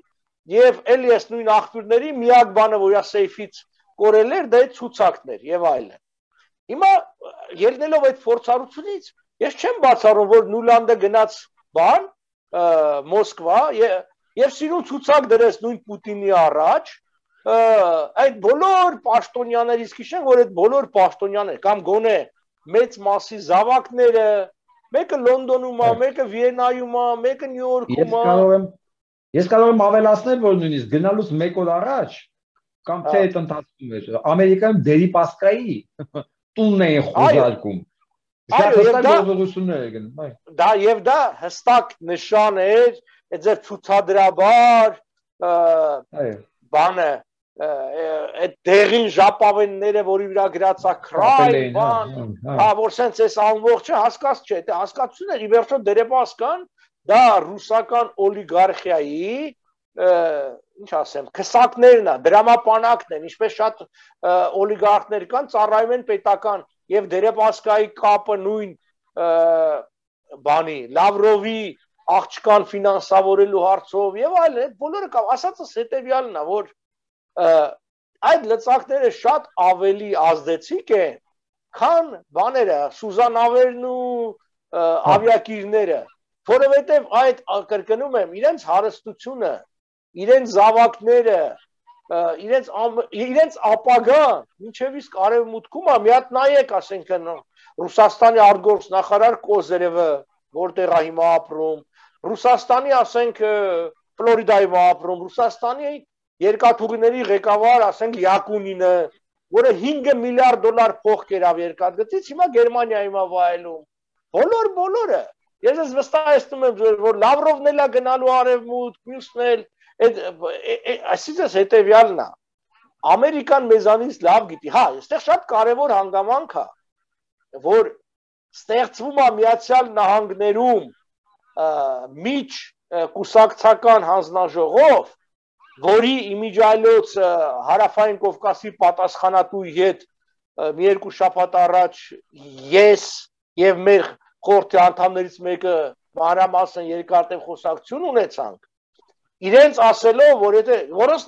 եւ էլի էս նույն աղբյուրների միակ բանը, որ իր սեյֆից կորել էր, դա է ցուցակներ եւ այլն։ Հիմա ելնելով այդ փորձառությունից, ես չեմ բացառում, որ Նուլանդը գնաց բան Մոսկվա եւ սիրուն ցուցակ դրեց նույն Պուտինի առաջ, այդ բոլոր պաշտոնյաներից քիշեն, որ այդ բոլոր պաշտոնյաներ կամ գոնե մեծ մասի զավակները, մեկը Լոնդոնում է, մեկը Վիեննայում է, մեկը Նյու Յորքում է։ Ես կարող եմ ավելացնել, որ նույնիսկ գնալուց մեկ օր առաջ կամ թե այդ ընթացքում էր Ամերիկայում Դերիպասկայի տունն էին խոզարկում։ Դա եւ դա հստակ նշան էր, այդ ձեր ցուցադրաբար բանը այդ դեղին ժապավենները, որի վրա գրած է քրայ, բան, հա, որ սենց էս ամբողջը հասկաց չէ, դա հասկացություն էր, ի վերջո Դերիպասկան դա ռուսական օլիգարխիայի ինչ ասեմ, քսակներն է, դրամապանակն են, ինչպես շատ օլիգարխներ կան, ծառայում են պետական եւ Դերիպասկայի կապը նույն բանի, Լավրովի աղջկան ֆինանսավորելու հարցով եւ այլն, այդ բոլորը կա, ասածս հետեւյալն է, որ այդ լծակները շատ ավելի ազդեցիկ են, քան բաները, Սուզանավերն ու ավիակիրները, որովհետեւ այդ կրկնում եմ, իրենց հարստությունը, իրենց զավակները, իրենց իրենց ապագան, ինչեւ իսկ արևմուտքում է, մի հատ նայեք, ասենք Ռուսաստանի արտգործնախարար Կոզերևը, որտեղ է հիմա ապրում, Ռուսաստանի, ասենք Ֆլորիդայում ապրում, Ռուսաստանի երկաթուղիների ղեկավար, ասենք Յակունինը, որը հինգ միլիարդ դոլար փող կերավ երկաթգծից, հիմա Գերմանիայում է վայելում։ Բոլոր բոլորը։ Ես ես վստահեցնում եմ, որ Լավրովն էլ է գնալու արևմուտք, մյուսն էլ, այսինքն հետեւյալն է։ Ամերիկան մեզանից լավ գիտի, հա, այստեղ շատ կարևոր հանգամանք է, որ ստեղծվում է Միացյալ Նահանգներում միջ կուսակցական հանձնաժողով, որի իմիջիայլոց Հարավային Կովկասի պատասխանատուի հետ մի երկու շաբաթ առաջ ես եւ մեր խորհրդի անդամներից մեկը մանրամասն երկարատև խոսակցություն ունեցանք, իրենց ասելով, որ եթե որոնց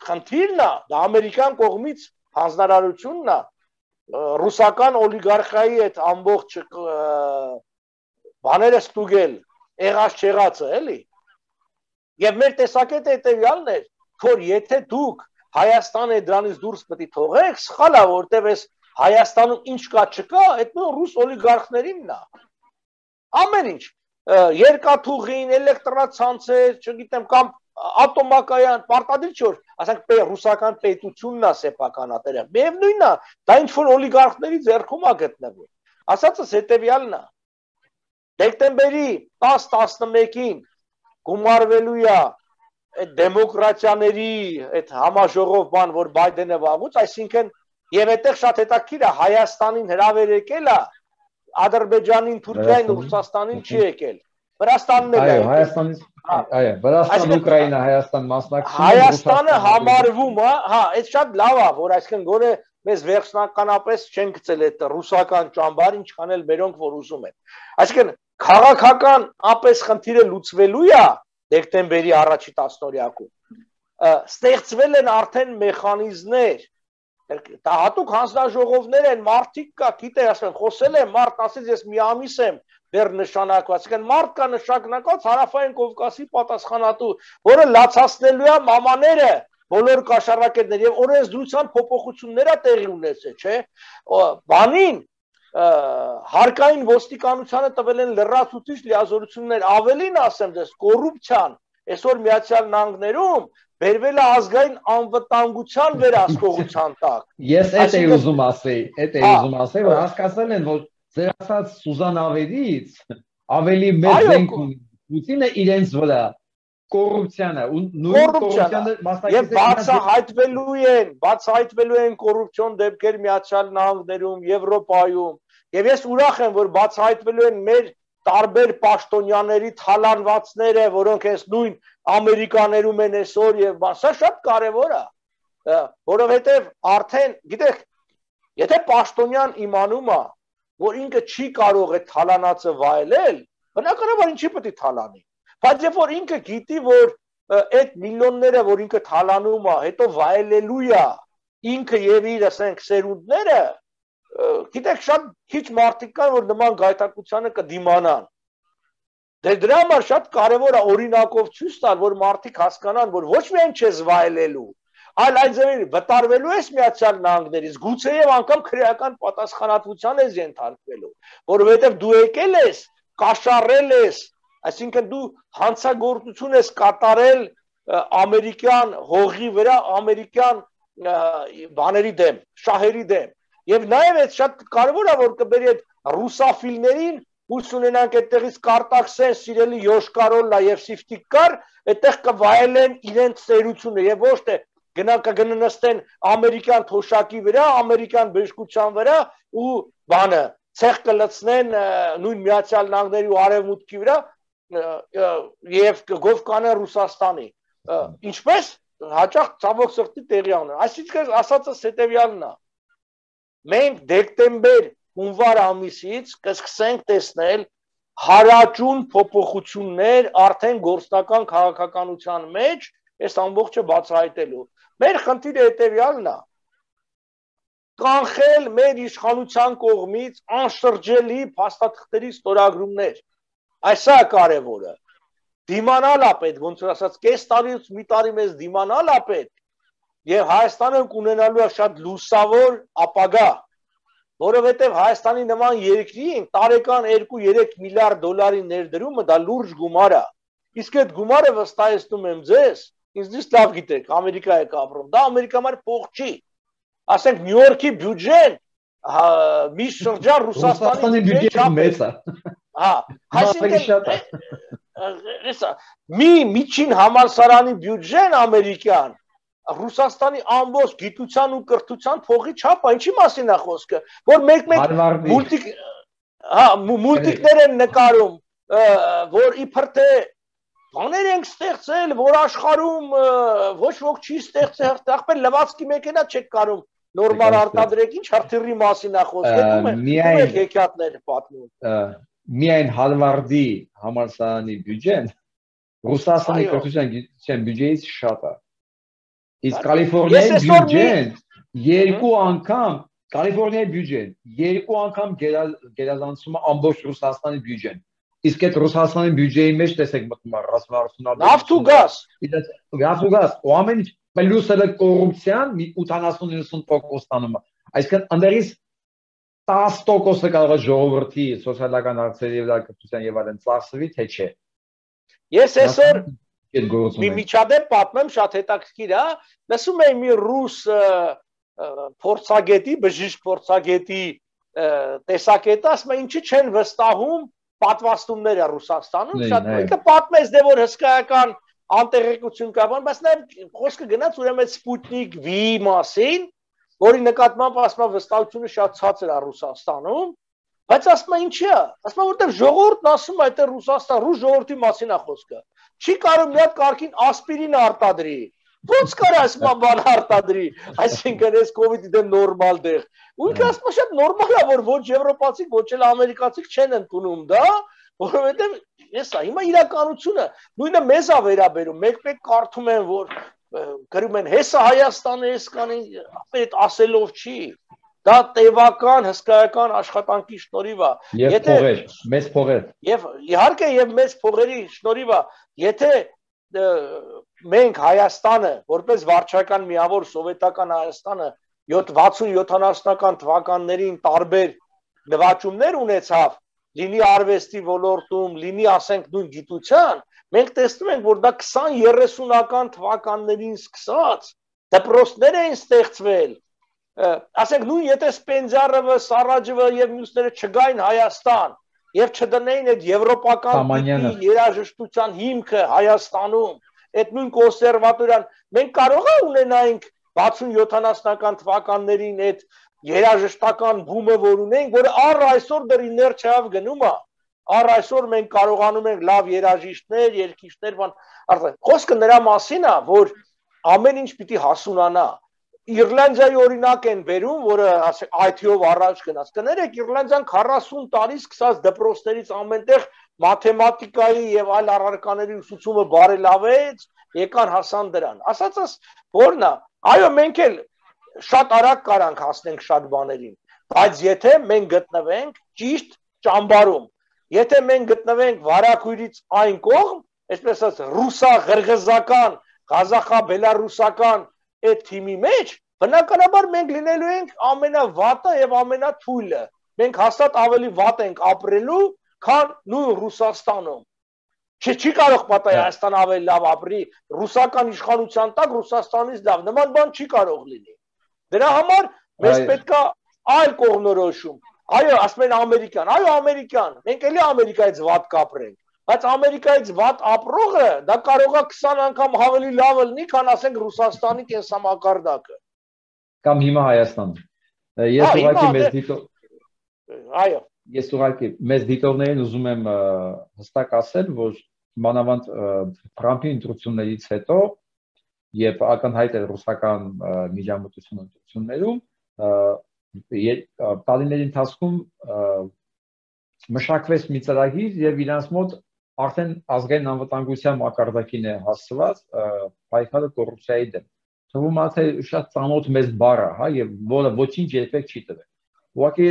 խնդիրն է, դա ամերիկյան կողմից հանձնարարությունն է, ռուսական օլիգարխիայի այդ ամբողջ բաները ստուգել, եղած չեղածը, էլի։ Եվ մեր տեսակետը հետևյալն էր, որ եթե դուք Հայաստանը դրանից դուրս պետք է թողեք, սխալ է, որտեվ այս Հայաստանում ինչ կա չկա, այդ նույն ռուս օլիգարխներինն է։ Ամեն ինչ, երկաթուղին, էլեկտրացանցեր, չգիտեմ, կամ ատոմակայան, պարտադիր չէ, որ ասենք ռուսական պետությունն է սեփականատերը։ Միևնույնն է, դա ինչ որ օլիգարխների ձեռքում է գտնվում։ Ասածս հետևյալն է։ Դեկտեմբերի տասը տասնմեկին գումարվելու է այդ դեմոկրատիաների այդ համաժողով բան, որ Բայդենը վաղուց, այսինքն եւ այդտեղ շատ հետաքրքիր է, Հայաստանին հրավեր եկել է, Ադրբեջանին, Թուրքիային, Ռուսաստանին չի եկել։ Վրաստանն էլ է։ Այո, Հայաստանից, այո, Վրաստան, Ուկրաինա, Հայաստան մասնակցում։ Հայաստանը համարվում է, հա, այդ շատ լավ է, որ այսինքն գոնե մեզ վերջնականապես չեն գցել այդ ռուսական ճամբար, ինչքան էլ մերոնք որ ուզում են։ Այսինքն քաղաքական ապես խնդիրը լուծվելու է դեկտեմբերի առաջի տասնօրյակում, ստեղծվել են արդեն մեխանիզմներ, դա հատուկ հանձնաժողովներ են, մարդիկ կա, գիտե, ասեն, խոսել եմ, մարդ ասեց, ես մի ամիս եմ դեռ նշանակված, այսինքն մարդ կա նշանակված Հարավային Կովկասի պատասխանատու, որը լացացնելու է մամաները, բոլոր կաշառակերներ եւ օրենսդրության փոփոխություններ է տեղի ունեցել, չէ՞, բանին հարկային ոստիկանությանը տվել են լրացուցիչ լիազորություններ, ավելին ասեմ դες, կոռուպցիան, այսօր Միացյալ Նահանգներում բերվել է ազգային անվտանգության վերահսկողության տակ։ Ես այդ էի ուզում ասեի, այդ էի ուզում ասեի, որ հասկացել են, որ ձեր ասած Սուզանավերից ավելի մեծ զենք ունի Պուտինը իրենց վրա կոռուպցիան է ու նույն կոռուպցիանը եւ բացահայտվելու են, բացահայտվելու են կոռուպցիոն դեպքեր Միացյալ Նահանգներում, Եվրոպայում, եւ ես ուրախ եմ, որ բացահայտվելու են մեր տարբեր պաշտոնյաների թալանվածները, որոնք այս նույն Ամերիկաներում են այսօր եւ սա շատ կարեւոր է, որովհետեւ արդեն, գիտեք, եթե պաշտոնյան իմանում է, որ ինքը չի կարող է թալանածը վայելել, բնականաբար ինչի պետք է թալանի։ Բայց երբ որ ինքը գիտի, որ այդ միլիոնները, որ ինքը թալանում է, հետո վայելելու է ինքը եւ իր, ասենք, սերունդները, գիտեք, շատ քիչ մարդիկ կան, որ նման գայթակղությանը կդիմանան։ Դե դրա համար շատ կարևոր է օրինակով ցույց տալ, որ մարդիկ հասկանան, որ ոչ միայն չես վայելելու, այլ այդ ձևի վտարվելու ես Միացյալ Նահանգներից, գուցեև անգամ քրեական պատասխանատվության ես ենթարկվելու, որովհետեւ դու եկել ես, կաշառել ես, այսինքն դու հանցագործություն ես կատարել ամերիկյան հողի վրա, ամերիկյան բաների դեմ, շահերի դեմ։ Եվ նաև այդ շատ կարևոր է, որ կբերի այդ ռուսաֆիլներին, ուս ունենանք այդտեղից կարտաքսեն, սիրելի Յոշկարոլլա եւ Սիվտիկկար, այդտեղ կվայելեն իրենց ծերությունը եւ ոչ թե գնա կգննստեն ամերիկյան թոշակի վրա, ամերիկյան բժշկության վրա ու բանը ցեղ կլցնեն նույն Միացյալ Նահանգների ու Արևմուտքի վրա եւ գով կանեն Ռուսաստանի։ Ինչպես հաճախ ցավոք սրտի տեղի ունեն։ Այսինքն ասածս հետեւյալն է։ Մենք դեկտեմբեր հունվար ամիսից կսկսենք տեսնել հարաճուն փոփոխություններ արդեն գործնական քաղաքականության մեջ, այս ամբողջը բացահայտելու։ Մեր խնդիրը հետեւյալն է. կանխել մեր իշխանության կողմից անշրջելի փաստաթղթերի ստորագրումներ։ Այս է կարևորը։ Դիմանալ է պետք, ոնց որ ասած, կես տարուց մի տարի մեզ դիմանալ է պետք, եւ Հայաստանը կունենալու է շատ լուսավոր ապագա, որովհետեւ Հայաստանի նման երկրի տարեկան երկու երեք միլիարդ դոլարի ներդրումը դա լուրջ գումար է։ Իսկ այդ գումարը վստահեցնում եմ ձեզ, ինձ լավ գիտեք, Ամերիկա եք ապրում, դա Ամերիկա համար փող չի։ Ասենք Նյու Յորքի բյուջեն մի շրջան Ռուսաստանի բյուջեը մեծ է։ Հա, այսինքն մի միջին համալսարանի բյուջեն ամերիկյան Ռուսաստանի ամբողջ գիտության ու կրթության փողի չափը, ինչի մասին է խոսքը, որ մեկ-մեկ մուլտիկ հա մուլտիկներ են նկարում, որ իբր թե բաներ ենք ստեղծել, որ աշխարհում ոչ ոք չի ստեղծել, ախպեր լվացքի մեքենա չեք կարող նորմալ արտադրեք, ինչ հրթիռի մասին է խոսքը, դու եք հեքիաթներ պատմում։ Միայն Հարվարդի համալսարանի բյուջեն Ռուսաստանի կրթության գիտության բյուջեից շատ է։ Իսկ Կալիֆոռնիայի բյուջեն երկու անգամ Կալիֆոռնիայի բյուջեն երկու անգամ գերազանցում է ամբողջ Ռուսաստանի բյուջեն։ Իսկ այդ Ռուսաստանի բյուջեի մեջ տեսեք մտնում է ռազմավարությունը, նավթ ու գազ, գազ ու գազ, ու ամեն ինչ պլյուսը կոռուպցիան մի ութանասուն-իննսուն տոկոս ստանում է։ Այսինքն ընդերից տասը տոկոսը կարող է ժողովրդի սոցիալական հարցերի վրա կրթության եւ այլն ծախսվի, թե չէ։ Ես այսօր մի միջադեպ պատմեմ, շատ հետաքրքիր է, լսում եմ մի ռուս փորձագետի, բժիշկ փորձագետի տեսակետը, ասում է ինչի չեն վստահում պատվաստումները Ռուսաստանում, շատ ինքը պատմեց դե որ հսկայական անտեղեկություն կա, բայց նաև խոսքը գնաց ուրեմն Սպուտնիկ V-ի մասին, որի նկատմամբ ասում է վստահությունը շատ ցածր է Ռուսաստանում, բայց ասում է ինչի է, ասում է որտեղ ժողովուրդն ասում է այդտեղ Ռուսաստան, ռուս ժողովրդի մասին է խոսքը, չի կարող մի հատ կարգին ասպիրին արտադրի, ո՞նց կարա ասում է բան արտադրի, այսինքն այս կովիդի դեմ նորմալ դեղ, ու ինքը ասում է շատ նորմալ է, որ ոչ եվրոպացիք, ոչ էլ ամերիկացիք չեն ընդունում դա, որովհետև էսա հիմա իրականությունը նույնը մեզ է վերաբերում, մեկ-մեկ կարդում են, որ գրում են հեսա Հայաստանը էս կանի, այդ ասելով չի, դա տևական հսկայական աշխատանքի շնորհիվ է։ Եվ փողեր, մեծ փողեր։ Եւ իհարկե եւ մեծ փողերի շնորհիվ է, եթե մենք Հայաստանը, որպես վարչական միավոր սովետական Հայաստանը վաթսուն յոթանասունական թվականներին տարբեր նվաճումներ ունեցավ, լինի արվեստի ոլորտում, լինի ասենք նույն գիտության, մենք տեսնում ենք, որ դա քսան երեսունական թվականներին սկսած դպրոցներ էին ստեղծվել, ասենք նույն եթե Սպենդիարովը, Սարաջևը եւ մյուսները չգային Հայաստան, եւ չդնեին այդ եվրոպական տիպի երաժշտության հիմքը Հայաստանում, այդ նույն կոնսերվատորիան, մենք կարող է ունենայինք վաթսուն յոթանասունական թվականներին այդ երաժշտական բումը, որ ունենք, որը առ այսօր դեռ իներցիայով գնում է, առ այսօր մենք կարողանում ենք լավ երաժիշտներ, երգիչներ, բան, արդեն խոսքը նրա մասին է, որ ամեն ինչ պիտի հասունանա։ Իռլանդիայի օրինակ են բերում, որը ասենք այ թի-ով առաջ գնաց։ Կներեք, Իռլանդիան քառասուն տարի սկսած դպրոցներից ամենտեղ մաթեմատիկայի եւ այլ առարկաների ուսուցումը բարելավեց, եկան հասան դրան։ Ասածս որն է, այո, մենք էլ շատ արագ կարանք հասնենք շատ բաներին, բայց եթե մենք գտնվենք ճիշտ ճամբարում, եթե մենք գտնվենք վարակույրից այն կողմ, այսպես ասած, ռուսա-ղրղզական, ղազախա-բելարուսական այդ թիմի մեջ, բնականաբար մենք լինելու ենք ամենավատը եւ ամենաթույլը։ Մենք հաստատ ավելի վատ ենք ապրելու, քան նույն Ռուսաստանում։ Չի չի կարող պատահի Հայաստան ավելի լավ ապրի, ռուսական իշխանության տակ Ռուսաստանից լավ, նման բան չի կարող լինի։ Դրա համար մեզ պետք է այլ կողմնորոշում։ Այո, ասում են ամերիկան, այո, ամերիկան, մենք էլի Ամերիկայից վատ կապրենք, բայց Ամերիկայից վատ ապրողը դա կարող է քսան անգամ ավելի լավ լինի, քան ասենք Ռուսաստանի կենսամակարդակը։ Կամ հիմա Հայաստանը։ Ես ուղղակի մեզ դիտող այո, ես ուղղակի մեզ դիտողներին ուզում եմ հստակ ասել, որ մանավանդ Թրամփի ընտրություններից հետո եւ ակնհայտ է ռուսական միջամտություն ընտրություններում տարիների ընթացքում մշակվեց մի ծրագիր եւ իրանց մոտ արդեն ազգային անվտանգության մակարդակին է հասցված պայքարը կոռուպցիայի դեմ։ Թվում է թե շատ ծանոթ մեծ բառ է, հա, եւ որը ոչինչ երբեք չի տվել։ Ուղղակի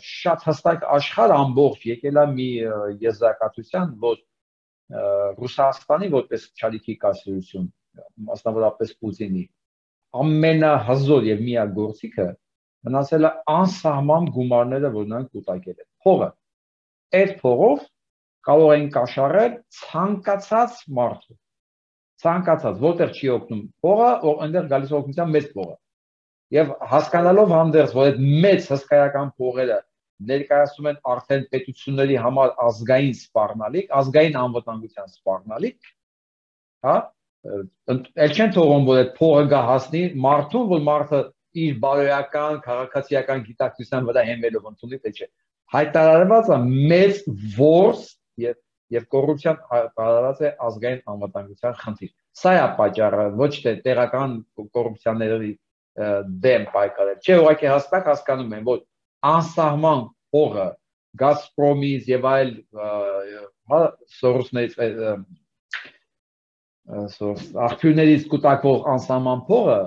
շատ հստակ աշխարհ ամբողջ եկել է մի եզրակացության, որ Ռուսաստանի որպես չալիքի կայսրություն, մասնավորապես Պուտինի, ամենահզոր եւ միակ գործիքը մնացել է անսահման գումարները, որ նրանք կուտակել են։ Փողը։ Այդ փողով կարող են կաշառել ցանկացած մարդու։ Ցանկացած, որտեղ չի օգնում փողը, այնտեղ գալիս օգնության մեծ փողը։ Եվ հասկանալով հանդերձ, որ այդ մեծ հսկայական փողերը ներկայացնում են արդեն պետությունների համար ազգային սպառնալիք, ազգային անվտանգության սպառնալիք, հա, ել չեն թողում, որ այդ փողը գա հասնի մարդուն, որ մարդը իր բարոյական, քաղաքացիական գիտակցության վրա հենվելով ընդունի, թե չէ։ Հայտարարված է մեծ որս եւ եւ կոռուպցիան հայտարարված է ազգային անվտանգության խնդիր։ Սա է պատճառը, ոչ թե տեղական կոռուպցիաների դեմ պայքարել։ Չէ, ուղղակի հստակ հասկանում են, որ անսահման փողը Գազպրոմից եւ այլ սորոսներից աղբյուրներից կուտակվող անսահման փողը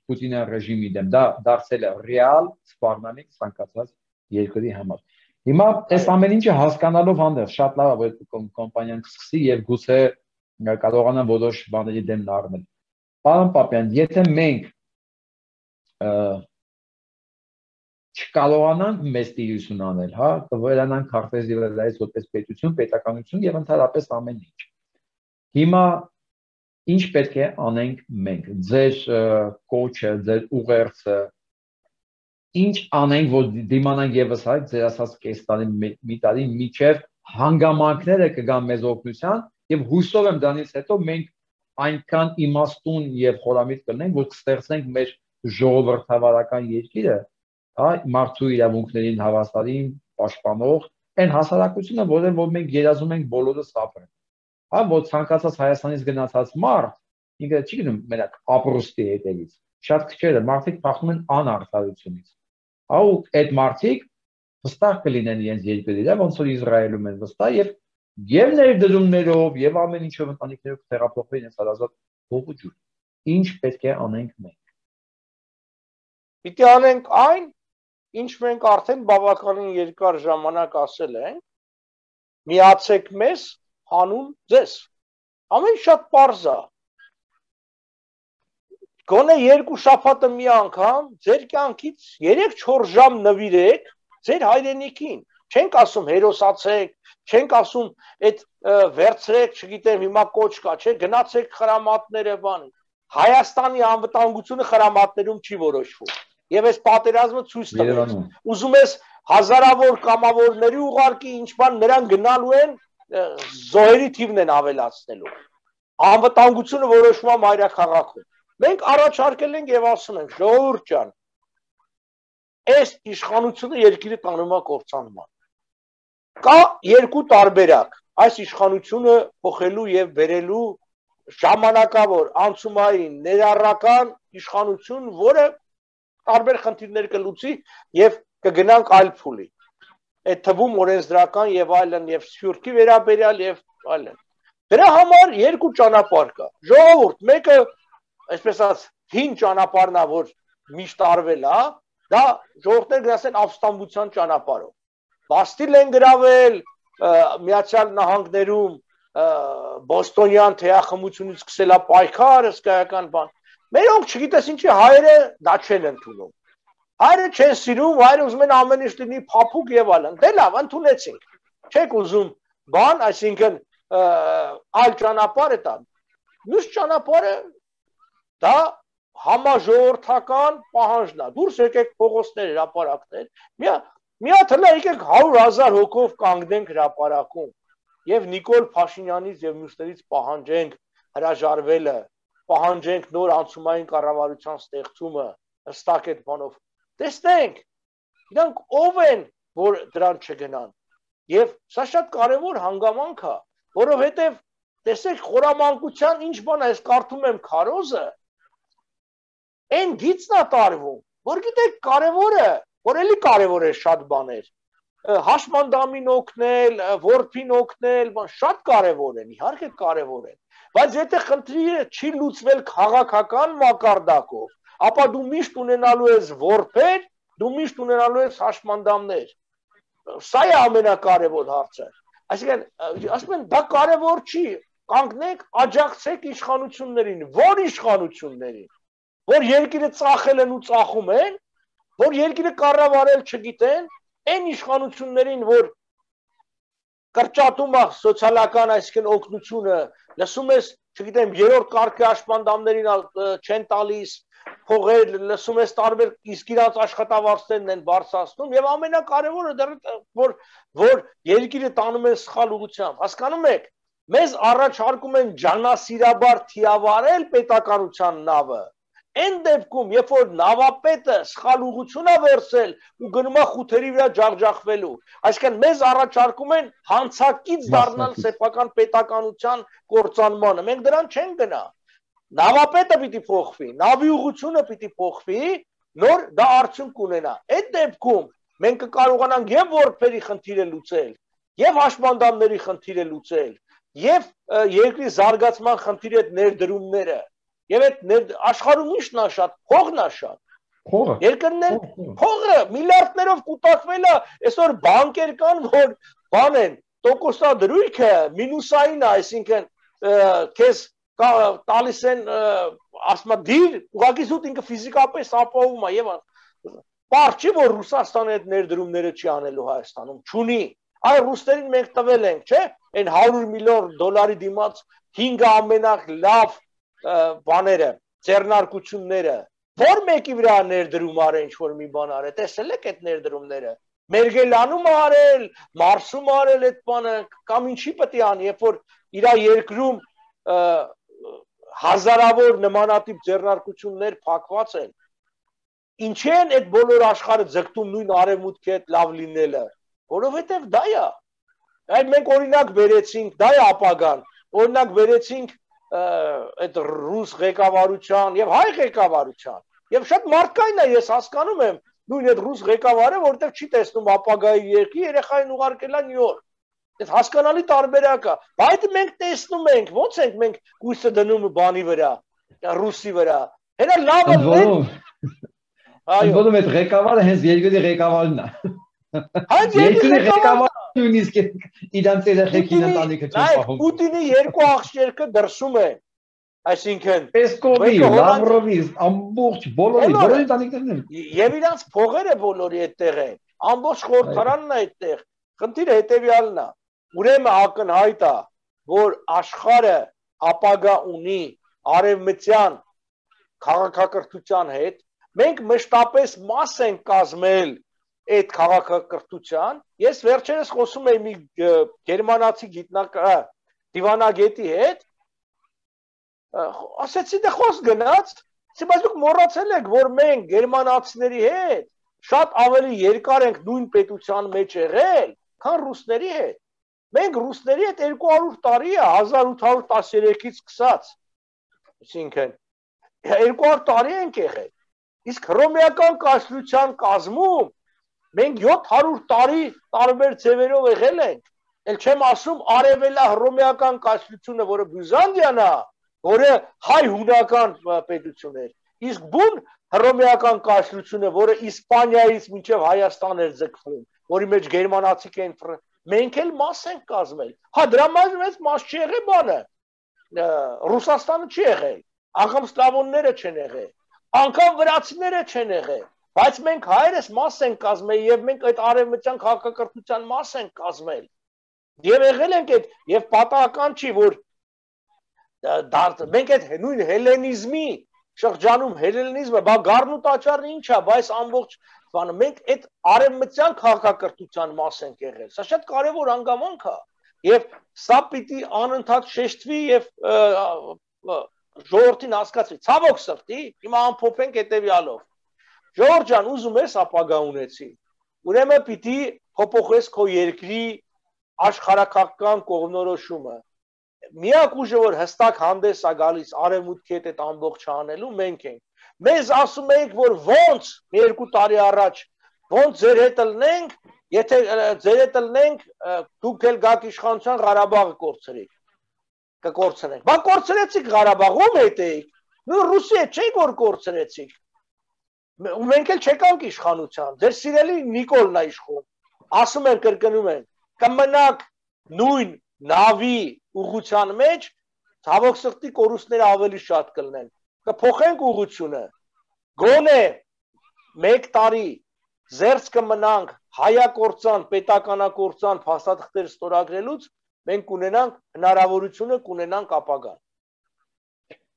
Պուտինյան ռեժիմի դեմ դա դարձել է ռեալ սպառնալիք ցանկացած երկրի համար։ Հիմա այս ամեն ինչը հասկանալով հանդերձ շատ լավ է, որ կոմպանիան կսկսի եւ գուցե կարողանա որոշ բաների դեմ նարմել։ Պարոն Պապյան, եթե մենք չկարողանանք մեծ տիրություն անել, հա, կվերանանք քարտեզի վրայից որպես պետություն, պետականություն եւ ընդհանրապես ամեն ինչ։ Հիմա ինչ պետք է անենք մենք, ձեր կոչը, ձեր ուղերձը, ինչ անենք, որ դիմանանք եւս հայ ձեր ասած կես տարի մի տարի միջև հանգամանքները կգան մեզ օգնության եւ հույսով եմ դրանից հետո մենք այնքան իմաստուն եւ խորամիտ կլինենք, որ կստեղծենք մեր ժողովրդավարական երկիրը, հա, մարդու իրավունքներին հավաստարին պաշտպանող այն հասարակությունը, որը որ մենք երազում ենք բոլորս ապրենք։ Հա, որ ցանկացած Հայաստանից գնացած մարդ, ինքը չի գնում մենակ ապրոստի հետևից, շատ քչերը մարդիկ փախնում են անարդարությունից։ Հա, ու այդ մարդիկ վստահ կլինեն իրենց երկրի վրա, ոնց որ Իսրայելում են վստահ եւ եւ ներդրումներով եւ ամեն ինչով ընտանիքներով կթերապողվեն իրենց հարազատ հողու ջուր։ Ինչ պետք է անենք մենք։ Պիտի անենք այն, ինչ մենք արդեն բավականին երկար ժամանակ ասել ենք, միացեք մեզ, հանուն ձեզ։ Ամեն շատ պարզ է։ Գոնե երկու շաբաթը մի անգամ ձեր կյանքից երեք-չորս ժամ նվիրեք ձեր հայրենիքին։ Չենք ասում հերոսացեք, չենք ասում այդ վերցրեք, չգիտեմ, հիմա կոչ կա, չէ, գնացեք խրամատները բանի։ Հայաստանի անվտանգությունը խրամատներում չի որոշվում։ Եվ այս պատերազմը ցույց տվեց։ Ուզում ես հազարավոր կամավորների ուղարկի, ինչ բան նրանք գնալու են զոհերի թիվն են ավելացնելու։ Անվտանգությունը որոշվում է մայրաքաղաքում։ Մենք առաջարկել ենք եւ ասում ենք, ժողովուրդ ջան, այս իշխանությունը երկիրը տանում է կործանման։ Կա երկու տարբերակ։ Այս իշխանությունը փոխելու եւ բերելու ժամանակավոր, անցումային, ներառական իշխանություն, որը տարբեր խնդիրներ կլուծի եւ կգնանք այլ փուլի։ Այդ թվում օրենսդրական եւ այլն եւ սփյուռքի վերաբերյալ եւ այլն։ Դրա համար երկու ճանապարհ կա։ Ժողովուրդ, մեկը, այսպես ասած, հին ճանապարհն է, որ միշտ արվել է, դա ժողովուրդները գնացեն ապստամբության ճանապարհով։ Բաստիլ են գրավել, Միացյալ Նահանգներում բոստոնյան թեյախմությունից սկսել է պայքար, հսկայական բան։ Մերոնք չգիտես ինչի հայերը դա չեն ընդունում։ Հայերը չեն սիրում, հայերը ուզում են ամեն ինչ լինի փափուկ եւ այլն։ Դե լավ, ընդունեցինք։ Չեք ուզում բան, այսինքն այլ ճանապարհ է տան։ Մյուս ճանապարհը դա համաժողովրդական պահանջն է։ Դուրս եկեք փողոցներ, հրապարակներ։ Մի մի հատ հլա եկեք հարյուր հազար հոգով կանգնենք հրապարակում եւ Նիկոլ Փաշինյանից եւ մյուսներից պահանջենք հրաժարվելը, պահանջենք նոր անցումային կառավարության ստեղծումը, հստակ այդ բանով։ Տեսնենք, իրանք ով են, որ դրան չգնան։ Եվ սա շատ կարևոր հանգամանք է, որովհետև տեսեք խորամանկության ինչ բան է, ես կարդում եմ քարոզը, այն գիծն է տարվում, որ գիտեք կարևորը, որ էլի կարևոր է շատ բաներ։ Հաշմանդամին օգնել, որփին օգնել, բան շատ կարևոր են, իհարկե կարևոր են։ Բայց եթե խնդիրը չի լուծվել քաղաքական մակարդակով, ապա դու միշտ ունենալու ես որփեր, դու միշտ ունենալու ես հաշմանդամներ։ Սա է ամենակարևոր հարցը։ Այսինքն, ասում են, դա կարևոր չի, կանգնեք, աջակցեք իշխանություններին, որ իշխանություններին, որ երկիրը ծախել են ու ծախում են, որ երկիրը կառավարել չգիտեն, այն իշխանություններին, որ կրճատում է սոցիալական այսինքն օգնությունը, լսում ես, չգիտեմ, երրորդ կարգի հաշմանդամներին չեն տալիս, փողեր, լսում ես տարբեր իսկ իրանց աշխատավարձերն են բարձրացնում եւ ամենակարևորը դեռ որ որ երկիրը տանում են սխալ ուղղությամբ, հասկանում եք, մեզ առաջարկում են ջանասիրաբար թիավարել պետականության նավը, այն դեպքում, երբ որ նավապետը սխալ ուղղություն է վերցել ու գնում է խութերի վրա ջախջախվելու, այսինքն մեզ առաջարկում են հանցակից դառնալ սեփական պետականության կործանմանը, մենք դրան չենք գնա։ Նավապետը պիտի փոխվի, նավի ուղղությունը պիտի փոխվի, նոր դա արդյունք ունենա։ Այդ դեպքում մենք կկարողանանք եւ որփերի խնդիրը լուծել, եւ հաշմանդամների խնդիրը լուծել, եւ երկրի զարգացման խնդիրի այդ ներդրումները, եւ այդ աշխարհում ի՞նչն է շատ, փողն է շատ։ Փողը։ Երկրներ փողը միլիարդներով կուտակվել է, այսօր բանկեր կան, որ բան են, տոկոսադրույքը մինուսային է, այսինքն քեզ տալիս են ասма դիր, ուղղակի զուտ ինքը ֆիզիկապես ապահովում է եւ բար չի որ Ռուսաստանը այդ ներդրումները չի անելու Հայաստանում, չունի։ Այ ռուսերին մենք տվել ենք, չէ՞, այն հարյուր միլիոն դոլարի դիմաց հինգ ամենալավ բաները, ձեռնարկությունները, որ մեկի վրա ներդրում արել ինչ որ մի բան արել, տեսել եք այդ ներդրումները։ Մերգելանում արել, Մարսում արել այդ բանը, կամ ինչի պետք է անի, երբ որ իր երկրում հազարավոր նմանատիպ ձեռնարկություններ փակված են։ Ինչի են այդ բոլոր աշխարհը ձգտում նույն արևմուտքի հետ լավ լինելը, որովհետև դա է։ Այդ մենք օրինակ վերեցինք, դա է ապագան, օրինակ վերեցինք այդ ռուս ղեկավարության եւ հայ ղեկավարության։ Եվ շատ մարդկային է, ես հասկանում եմ, նույն այդ ռուս ղեկավարը, որովհետև չի տեսնում ապագայի երկրի, երեխային ուղարկել է Նյու Յորք։ Այդ հասկանալի տարբերակ է, բայց մենք տեսնում ենք, ո՞նց ենք մենք հույսը դնում բանի վրա, ռուսի վրա։ Հենա լավը լեն։ Այո։ Ո՞նց այդ ղեկավարը հենց երկրի ղեկավարն է։ Հայ երկրի ղեկավարը նույնիսկ իրանց երեխեքին ընտանիքը չեն պահում։ Պուտինի երկու աղջիկը դրսում են։ Այսինքն Պեսկովի, Լավրովի, ամբողջ բոլորի, բոլորի ընտանիքներն են։ Եվ իրանց փողերը բոլորի այդտեղ են։ Ամբողջ խորհրդարանն է այդտեղ։ Խնդիրը հետեւյալն է։ Ուրեմն ակնհայտ է, որ աշխարհը ապագա ունի արևմտյան քաղաքակրթության հետ, մենք մշտապես մաս ենք կազմել այդ քաղաքակրթության։ Ես վերջերս խոսում էի մի գերմանացի գիտնական դիվանագետի հետ, ասեցի դե խոսք գնաց, բայց դուք մոռացել եք, որ մենք գերմանացիների հետ շատ ավելի երկար ենք նույն պետության մեջ եղել, քան ռուսների հետ։ Մենք ռուսների հետ երկու հարյուր տարի է, հազար ութ հարյուր տասներեքից սկսած, այսինքն երկու հարյուր տարի ենք եղել։ Իսկ հռոմեական կայսրության կազմում մենք յոթ հարյուր տարի տարբեր ձևերով եղել ենք։ Էլ չեմ ասում արևելա հռոմեական կայսրությունը, որը Բյուզանդիան է, որը հայ-հունական պետություն էր։ Իսկ բուն հռոմեական կայսրությունը, որը Իսպանիայից մինչև Հայաստան էր ձգվում, որի մեջ գերմանացիք են, մենք էլ մաս ենք կազմել։ Հա, դրա մեջ մեծ մաս չի եղել բանը։ Ռուսաստանը չի եղել, անգամ սլավոնները չեն եղել, անգամ վրացիները չեն եղել, բայց մենք հայերս մաս ենք կազմել եւ մենք այդ արևմտյան քաղաքակրթության մաս ենք կազմել։ Եվ եղել ենք այդ եւ պատահական չի, որ մենք այդ նույն հելենիզմի շրջանում հելենիզմը, բա գառնու տաճարն ինչ է, բայց ամբողջ բանը մենք այդ արևմտյան քաղաքակրթության մաս ենք եղել։ Սա շատ կարևոր հանգամանք է եւ սա պիտի անընդհատ շեշտվի եւ ժողովրդին հասկացվի։ Ցավոք սրտի, հիմա ամփոփենք հետեւյալով։ Ժողովուրդ ջան, ուզում ես ապագա ունեցի։ Ուրեմն պիտի փոփոխես քո երկրի աշխարհակաղակական կողմնորոշումը։ Միակ ուժը, որ հստակ հանդես է գալիս արևմուտքի հետ այդ ամբողջը անելու, մենք ենք։ Մեզ ասում եք, որ ոնց մի երկու տարի առաջ ոնց ձեր հետ լնենք, եթե ձեր հետ լնենք, դուք էլ գաք իշխանության Ղարաբաղը կորցրեք, կկորցնենք։ Բա կորցրեցիք Ղարաբաղում հետ եք, նույն Ռուսի հետ չէիք որ կորցրեցիք։ Մենք էլ չեկանք իշխանության, ձեր սիրելի Նիկոլն է իշխում։ Ասում են, կրկնում են, կմնաք նույն նավի ուղղության մեջ, ցավոք սրտի կորուստները ավելի շատ կլինեն։ Կփոխենք ուղղությունը։ Գոնե մեկ տարի զերծ կմնանք հայակորցան, պետականակորցան փաստաթղթեր ստորագրելուց, մենք կունենանք հնարավորությունը, կունենանք ապագան։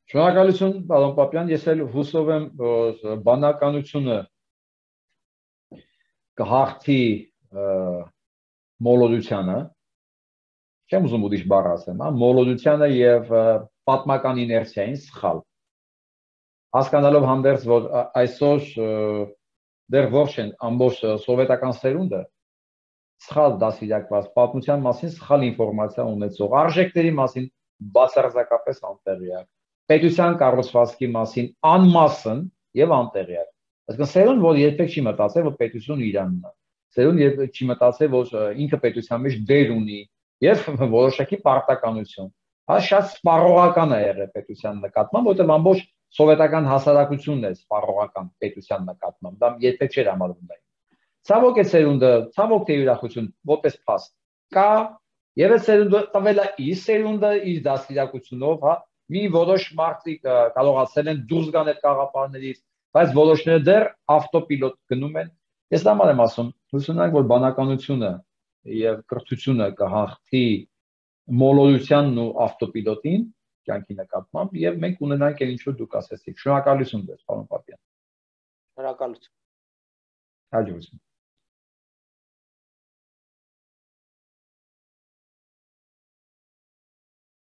Շնորհակալություն, պարոն Պապյան, ես էլ հուսով եմ, որ բանականությունը կհաղթի մոլոդությանը, չեմ ուզում ուրիշ բառ ասեմ, մոլոդությանը եւ պատմական իներցիային սխալ։ Հասկանալով հանդերձ, որ այսօր դեռ ողջ են ամբողջ սովետական սերունդը սխալ դասիրակված պատմության մասին սխալ ինֆորմացիա ունեցող, արժեքների մասին բացարձակապես անտեղյակ, պետության կառուցվածքի մասին անմասն եւ անտեղյակ։ Այսինքն սերունդ, որ երբեք չի մտածել, որ պետությունը Իրանն է։ Սերունդ երբեք չի մտածել, որ ինքը պետության մեջ դեր ունի եւ որոշակի պարտականություն։ Հա շատ սպառողական է եղել պետության նկատմամբ, որտեղ ամբողջ սովետական հասարակությունն է սպառողական պետության նկատմամբ, դա երբեք չէր համարվում դա։ Ցավոք է սերունդը, ցավոք թե ուրախություն, որպես փաստ կա եւ այդ սերունդը տվել է իր սերունդը իր դաստիարակությունով, հա, մի որոշ մարդիկ կարողացել են դուրս գան այդ կաղապարներից, բայց որոշները դեռ ավտոպիլոտ գնում են։ Ես դա եմ ասում, հուսանք, որ բանականությունը եւ կրթությունը կհաղթի մոլորությանն ու ավտոպիլոտին կյանքի նկատմամբ եւ մենք ունենանք այն ինչ որ դուք ասեցիք։ Շնորհակալություն ձեզ, պարոն Պապյան։ Շնորհակալություն։ Հաջողություն։